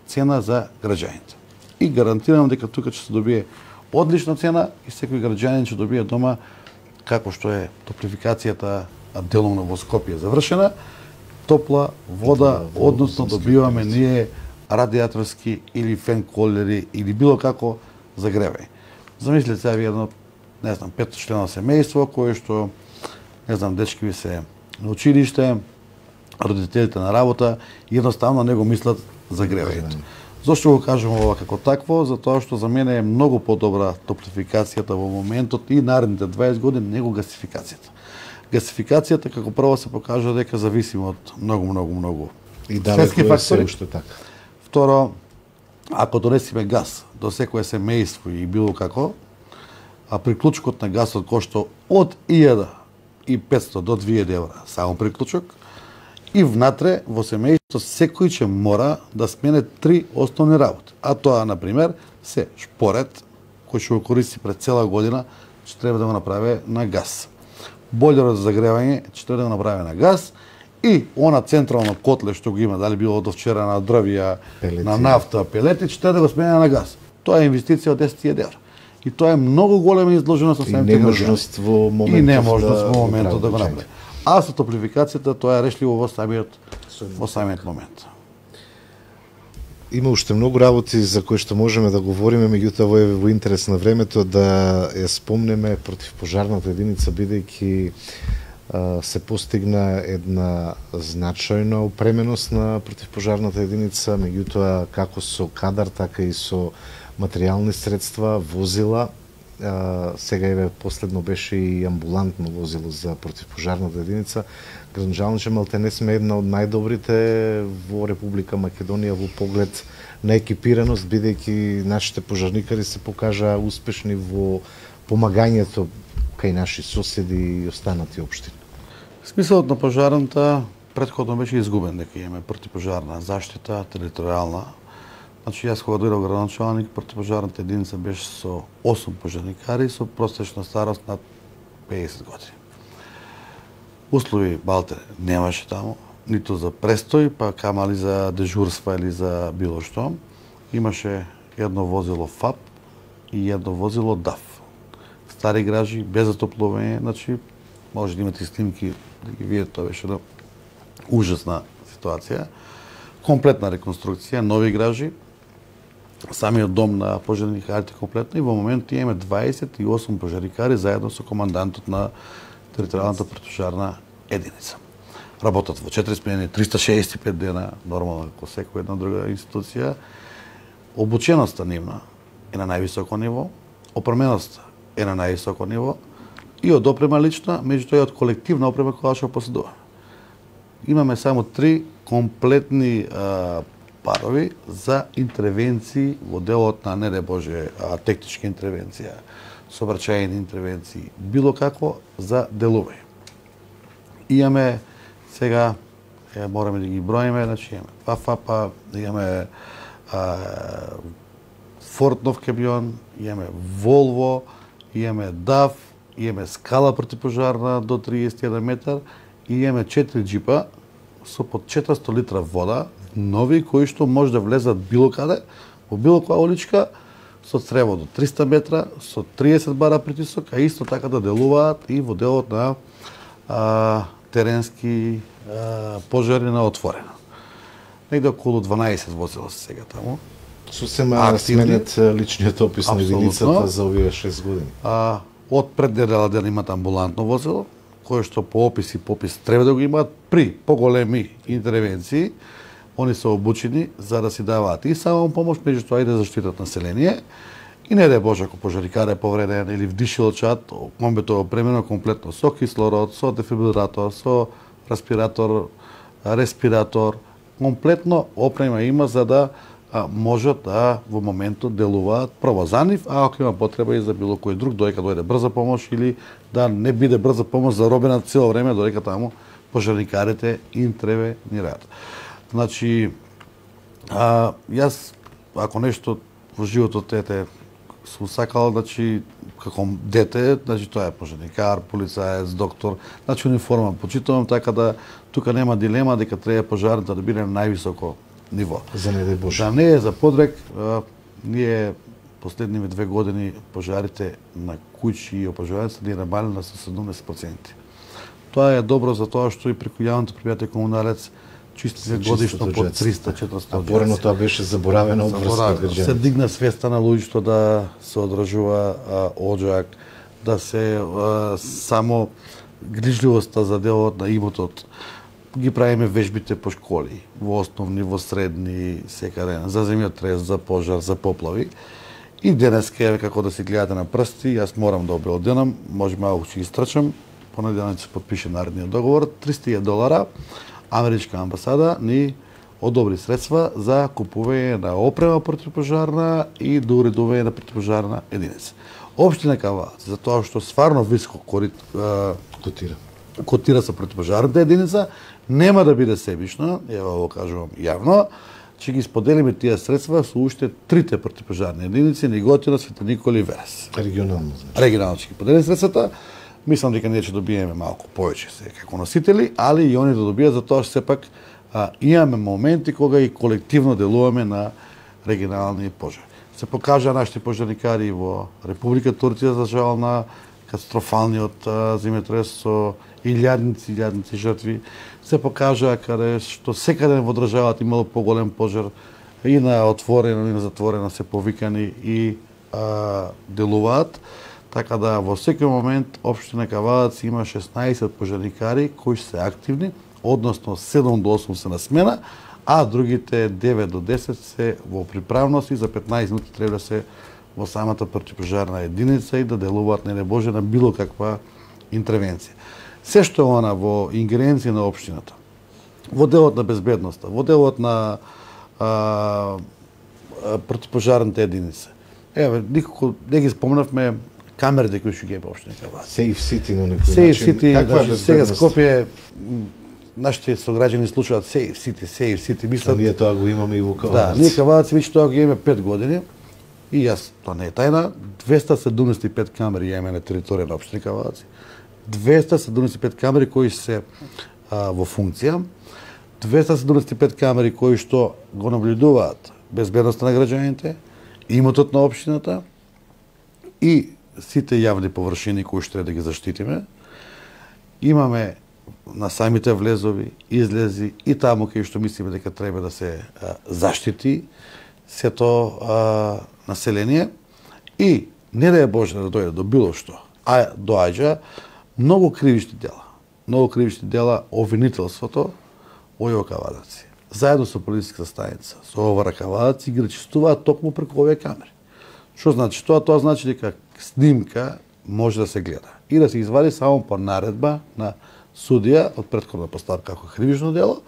цена за граѓаните. И гарантирам дека тука ќе се добие одлична цена и секој граѓанин ќе добие дома, како што е топлификацијата делумно во Скопје завршена, топла вода, односно добиваме ние радиаторски или фен колери или било како загревање. Замислете сега ви едно, не знам, 5-члено семејство кое што, не знам, дечки ви се на училиште, родителите на работа, едноставно не го мислат за гревањето. Зошто го кажам ова како такво? Затоа што за мене е многу подобра топлификацијата во моментот и наредните 20 години него гасификацијата. Гасификацијата како прво се покажа дека зависима од многу И далеку е се уште така. Второ, ако донесиме газ до секое семејство и било како, а приклучокот на гасот кошта од 1.500 до 2.000 евра само приклучок, и внатре во семејството секој ќе мора да смене 3 основни работи. А тоа, например, се шпорет, кој ќе го користи пред цела година, ќе треба да го направи на газ. Бойлерот за загревање ќе треба да го направи на газ, и она централно котле што го има, дали било од вчера на дрвја, на нафта, пелети, ќе треба да го смене на газ. Тоа е инвестиција од 10.000 евра. И тоа е многу голема изложеност со самите неможност во моментот. И неможност во моментот да го направи. А со топлификацијата тоа е решливо во самиот момент. Има уште многу работи за кои што можеме да говориме, меѓутоа во интерес на времето да ја спомнеме противпожарната единица, бидејќи се постигна една значајна опременост на противпожарната единица, меѓутоа како со кадар, така и со материјални средства, возила. Сега еве последно беше и амбулантно возило за противпожарната единица. Гранџалниче малтене сме една од најдобрите во Република Македонија во поглед на екипираност, бидејќи нашите пожарникари се покажаа успешни во помагањето кај наши соседи и останати општини. Смисолот на пожарната претходно беше изгубен, дека имаме противпожарна заштита територијална. Значи, јас кога дојдов градоначалник, противпожарната единица беше со 8 пожарникари со просечна старост над 50 години. Услови балте немаше таму, ниту за престој, па камали за дежурства или за било што. Имаше едно возило ФАП и едно возило ДАФ. Стари гражи, без затоплување, значи, може да имате снимки, да ги видите, тоа беше една ужасна ситуација. Комплетна реконструкција, нови гражи, самиот дом на пожарникарите комплетно, и во моментот имаме 28 пожарникари заедно со командантот на територијалната противпожарна единица. Работат во 4 смени, 365 дена, нормално како секоја една друга институција. Обученоста нивна е на највисоко ниво, опременоста е на највисоко ниво, и од опрема лична, меѓутоа и од колективна опрема која што поседуваме. Имаме само 3 комплетни парови за интервенции во делот на, не де Боже, техничка интервенција, сообраќајни интервенции, било како за делување. Имаме сега, мораме да ги броиме, значи имаме ФАП, имаме Форд нов камион, имаме Волво, имаме ДАФ, имаме скала противпожарна до 31 метар и имаме 4 джипа со по 400 литра вода, нови, кои што може да влезат било каде, во било која уличка, со црево до 300 метра, со 30 бара притисок, а исто така да делуваат и во делот на теренски пожари на отворено. Негде околу 12 возила се сега таму. Сосема сменет личниот опис на единицата за овие 6 години. Од пред недела ден имат амбулантно возило, кое што по опис и попис треба да го имаат при поголеми интервенции. Они се обучени за да си даваат и само помош, меѓутоа и да заштитат население. И не да Боже, ако пожарникар е повреден или вдишилачот, комбето е опремено комплетно со кислород, со дефибрилатор, со респиратор, комплетно опрема има за да можат да во моментот делуваат прво за нив, а ако има потреба и за било кој друг, додека дојде брза помош или да не биде брза помош заробена цело време, додека таму пожарникарите интервенираат. Значи, јас, ако нешто во животот сум сакал, значи, како дете, значи, тоа е пожарникар, полицаец, доктор, значи, униформа почитувам, така да тука нема дилема дека треба пожарната да биде на највисоко ниво. За не дај Боже. Да не е за подрек, ние последниве 2 години пожарите на куќи и опожарењата ни намалена со 70%. Тоа е добро за тоа што и преку јавното предпријатие Комуналец чисти годишно по 300-400. А порано тоа беше заборавено од врска. Се дигна свеста на луѓето да се одржува оџак, да се само грижливоста за делот на имотот. Ги правиме вежбите по школи, во основни, во средни, секаде, за земјотрес, за пожар, за поплави. И денеска, како да си гледате на прсти, јас морам да обелоденам, може малку ќе ги страчам, понеделник се подпише наредниот договор, $300 америчка амбасада ни одобри средства за купување на опрема противпожарна и до уредување на противпожарна единица. Општина Кавадарци, за тоа што стварно високо котира со противпожарната единица, нема да биде себично, ево го кажувам јавно, че ги споделиме тие средства со уште трите противпожарни единици, Неготино, Свети Никола и Верес. Регионално. Регионално ќе ги поделиме средствата. Мислам дека ние ќе добиеме малку повеќе се како носители, али и они да добијат, за тоа што сепак имаме моменти кога и колективно делуваме на регионални пожари. Се покажа нашите пожарникари во Република Турција, за жал, на катастрофалниот земјотрес со илјадници жртви. Се покажа каде што секаде во државата имало поголем пожар, и на отворено и на затворено се повикани и делуваат. Така да во секој момент општина Кавадарци има 16 пожарникари кои се активни, односно 7 до 8 се на смена, а другите 9 до 10 се во приправност и за 15 минути треба да се во самата противпожарна единица и да делуваат, не Боже, на било каква интервенција. Се што е она во ингеренција на општината, во делот на безбедноста, во делот на противпожарната единица. Еве, никако не ги спомнавме камерите кои што ги има општина Кавадарци. Safe City на некој Safe начин. City, Каква значи, сега Скопје, нашите сограѓани слушаат Safe City, мислат. Ние тоа го имаме и во Кавадарци. Да, ние Кавадарци веќе тоа го имаме 5 години. И јас, тоа не е тајна, 275 камери имаме на територија на општина Кавадарци. 275 камери кои се во функција. 275 камери кои што го наблюдуваат безбедноста на граѓаните, имотот на општината и сите јавни површини кои што треба да ги заштитиме. Имаме на самите влезови, излези и таму кај што мислиме дека треба да се заштити сето население и не да е Боже да дојде до било што, а доаѓа многу кривични дела. Многу кривични дела обвинителството во Кавадарци. Заедно со полициска станица, со ОВР Кавадарци ги речистуваат токму преку овие камери. Што значи тоа? Тоа значи дека снимка може да се гледа и да се извади само по наредба на судија од претходна поставка како кривично дело,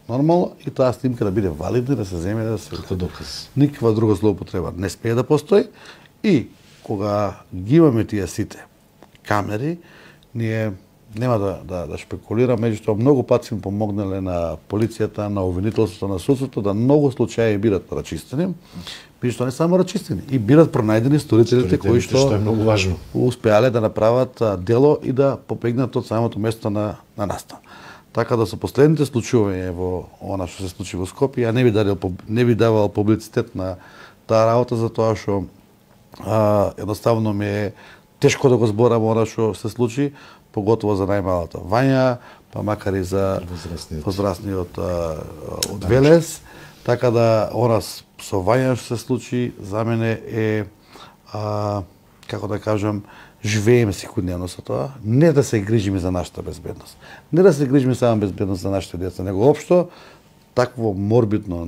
нормално, и таа снимка да биде валидна и да се земе да се како доказ. Никаква друга злоупотреба не смее да постои и кога ги имаме тие сите камери, ние нема да шпекулирам, меѓутоа многу пати сме помогнале на полицијата, на обвинителството, на судството да многу случаи бидат рачистени, меѓутоа не само рачистени, и бидат пронајдени сторителите кои што е многу важно. Успеале да направат дело и да попегнат од самото место на настан. Така да со последните случаи во она што се случи во Скопје, ја не би давал публицитет на таа работа, затоа што едноставно ми е тешко да го зборам она што се случи, поготово за најмалата Вања, па макар и за возрастниот од Велес. Така да она со Вања што се случи за мене е како да кажам, живееме секојдневно со тоа, не да се грижиме за нашата безбедност. Не да се грижиме само безбедност за нашите деца, него општо такво морбидно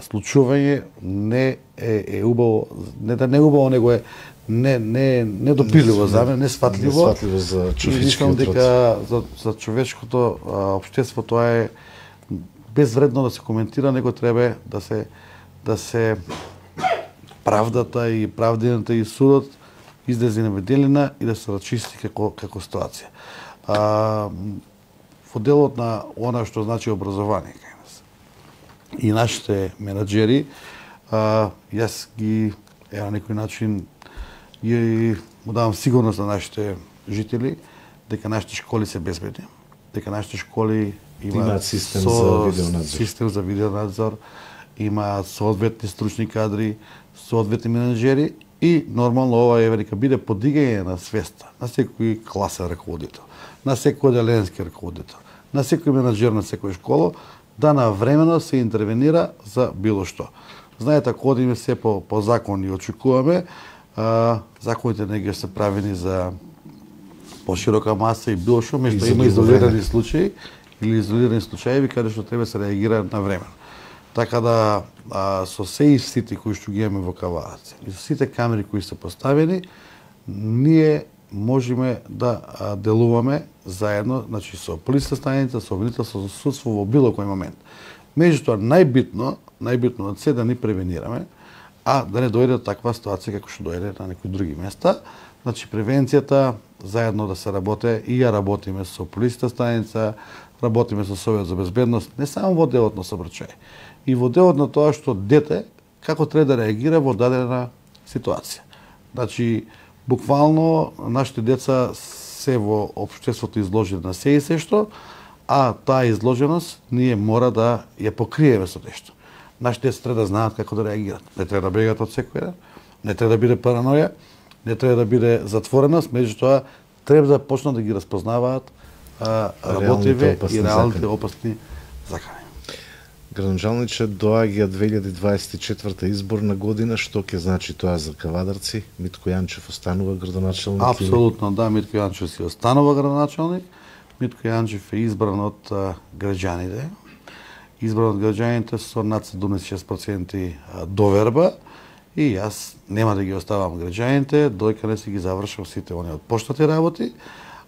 случување не е убаво, не да не убаво, него е недопирливо за мене, несфатливо. Несфатливо за човечкиот род. Дека за човечкото општество тоа е безвредно да се коментира, него треба да се правдата и правдената и судот излезе на виделина и да се рачисти како ситуација. Во делот на она што значи образование кај нас и нашите менаџери, јас ги на некој начин и му давам сигурност на нашите жители дека нашите школи се безбедни, дека нашите школи имаат систем за видеонадзор, имаат соодветни стручни кадри, соодветни менаџери и нормално ова е дека биде подигање на свеста на секој класен раководител, на секој оделенски раководител, на секој менаџер на секоја школа да навремено се интервенира за било што. Знаете, ако одиме се по закон и очекуваме, законите не ги се правени за поширока маса и било што, меѓутоа има изолирани случаи или изолирани случаи каде што треба се реагира на време. Така да со сите кои што ги имаме во Кавадарци и со сите камери кои се поставени, ние можеме да делуваме заедно, значи со полиска станица, со обвинителство, со судство во било кој момент. Меѓутоа најбитно од се да ни превенираме, а да не дојде таква ситуација како што дојде на некои други места. Значи превенцијата заедно да се работи и ја работиме со полиска станица, работиме со Совет за безбедност, не само во делот на сообраќај, и во делот на тоа што дете како треба да реагира во дадена ситуација. Значи, буквално нашите деца се во општеството изложени на се и се што, а таа изложеност ние мора да ја покриеме со нешто. Нашите деца треба да знаат како да реагират. Не треба да бегат од секој еден, не треба да биде параноја, не треба да биде затвореност, меѓутоа треба да почнат да ги распознаваат работливе и реалните опасни закани. Градоначалниче, доаѓа 2024 изборна година, што ќе значи тоа за Кавадарци? Митко Јанчев останува градоначалник? Апсолутно, да, Митко Јанчев си останува градоначалник. Митко Јанчев е избран од граѓаните. Избран од граѓаните со над 76% доверба и јас нема да ги оставам граѓаните, дојка не си ги завршам сите оние од поштати работи,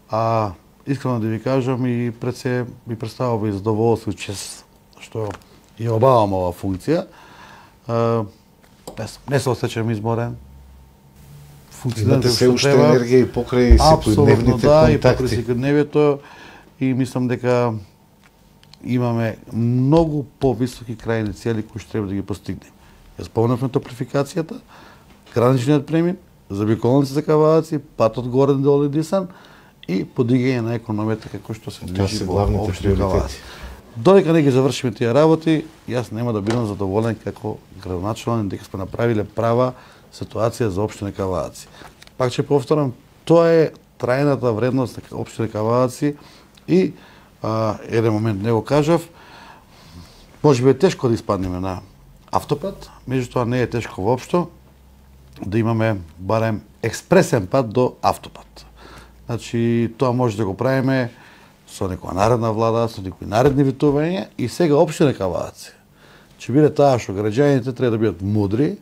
а искрено да ви кажам и пред се ми представува и задоволство и чест што ја обавам оваа функција. Не се осеќам изморен. Имате се уште енергија и покрај секојдневните контакти. И покрај секојдневието, и мислам дека имаме многу повисоки крајни цели кои што треба да ги постигнеме. Ја спомнавме топлификацијата, граничниот премин, заобиколници за Кавадарци, патот Горен до Олидисан и подигање на економијата како што се движи во општина Кавадарци. Додека не ги завршиме тие работи, јас нема да бидам задоволен како градоначалник дека сме направиле права ситуација за општина Кавадарци. Пак ќе повторам, тоа е трајната вредност на општина Кавадарци и еден момент не го кажав, можеби е тешко да испаднеме на автопат, меѓутоа не е тешко воопшто да имаме барем експресен пат до автопат. Значи, тоа може да го правиме со некоја наредна влада, со некои наредни витувања и сега општина Кавадарци ќе биде таа што граѓаните треба да бидат мудри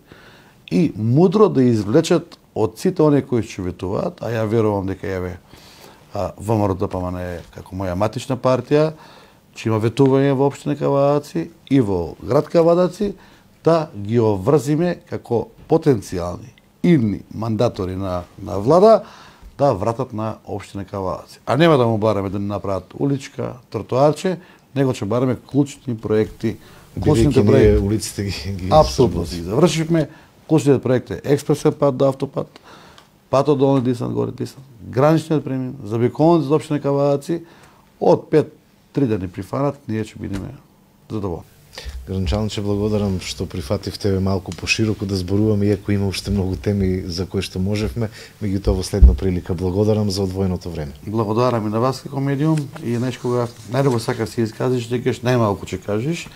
и мудро да извлечат од сите оние кои ќе ветуваат, а ја верувам дека еве ВМРО-ДПМН како моја матична партија ќе има ветување во општина Кавадарци и во град Кавадарци, да ги оврзиме како потенцијални идни мандатори на влада да вратат на општина Кавадарци. А нема да му бараме да ни направат уличка, тротоарче, него ќе бараме клучни проекти. Клучните проекти улиците ги апсолутно ги завршивме. Клучниот проект е експресен пат до автопат, патот долни Дисан, горе Дисан, граничниот премин, заобиколници за општина Кавадарци, од 5-3 да ни прифанат, ние ќе бидеме задоволни. Градоначалниче, благодарам што прифативте малку пошироко да зборуваме, иако има уште многу теми за кои што можевме, меѓутоа во следна прилика. Благодарам за одвоеното време. Благодарам и на вас како медиум и нешкога најдобро сакаш си изказиш, дека најмалку ќе кажеш.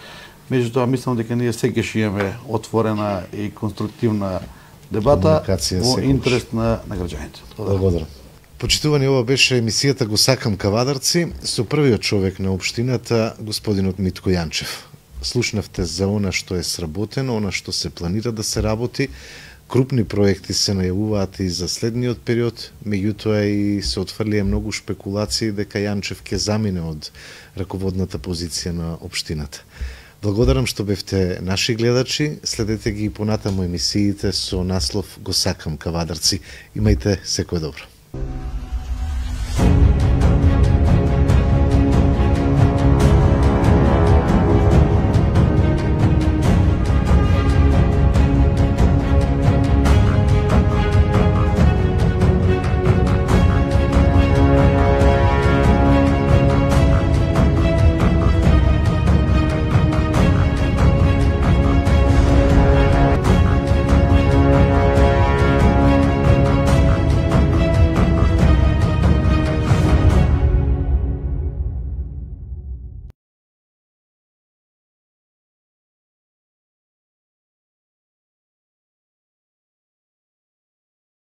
Меѓутоа мислам дека ние секогаш имаме отворена и конструктивна дебата во интерес на граѓаните. Благодарам. Почитувани, ова беше емисијата Го сакам Кавадарци со првиот човек на општината, господинот Митко Јанчев. Слушнавте за она што е сработено, она што се планира да се работи. Крупни проекти се најавуваат и за следниот период, меѓутоа и се отфрлија многу шпекулации дека Јанчев ќе замине од раководната позиција на општината. Благодарам што бевте наши гледачи, следете ги и понатаму емисиите со наслов Го сакам Кавадарци. Имајте секое добро.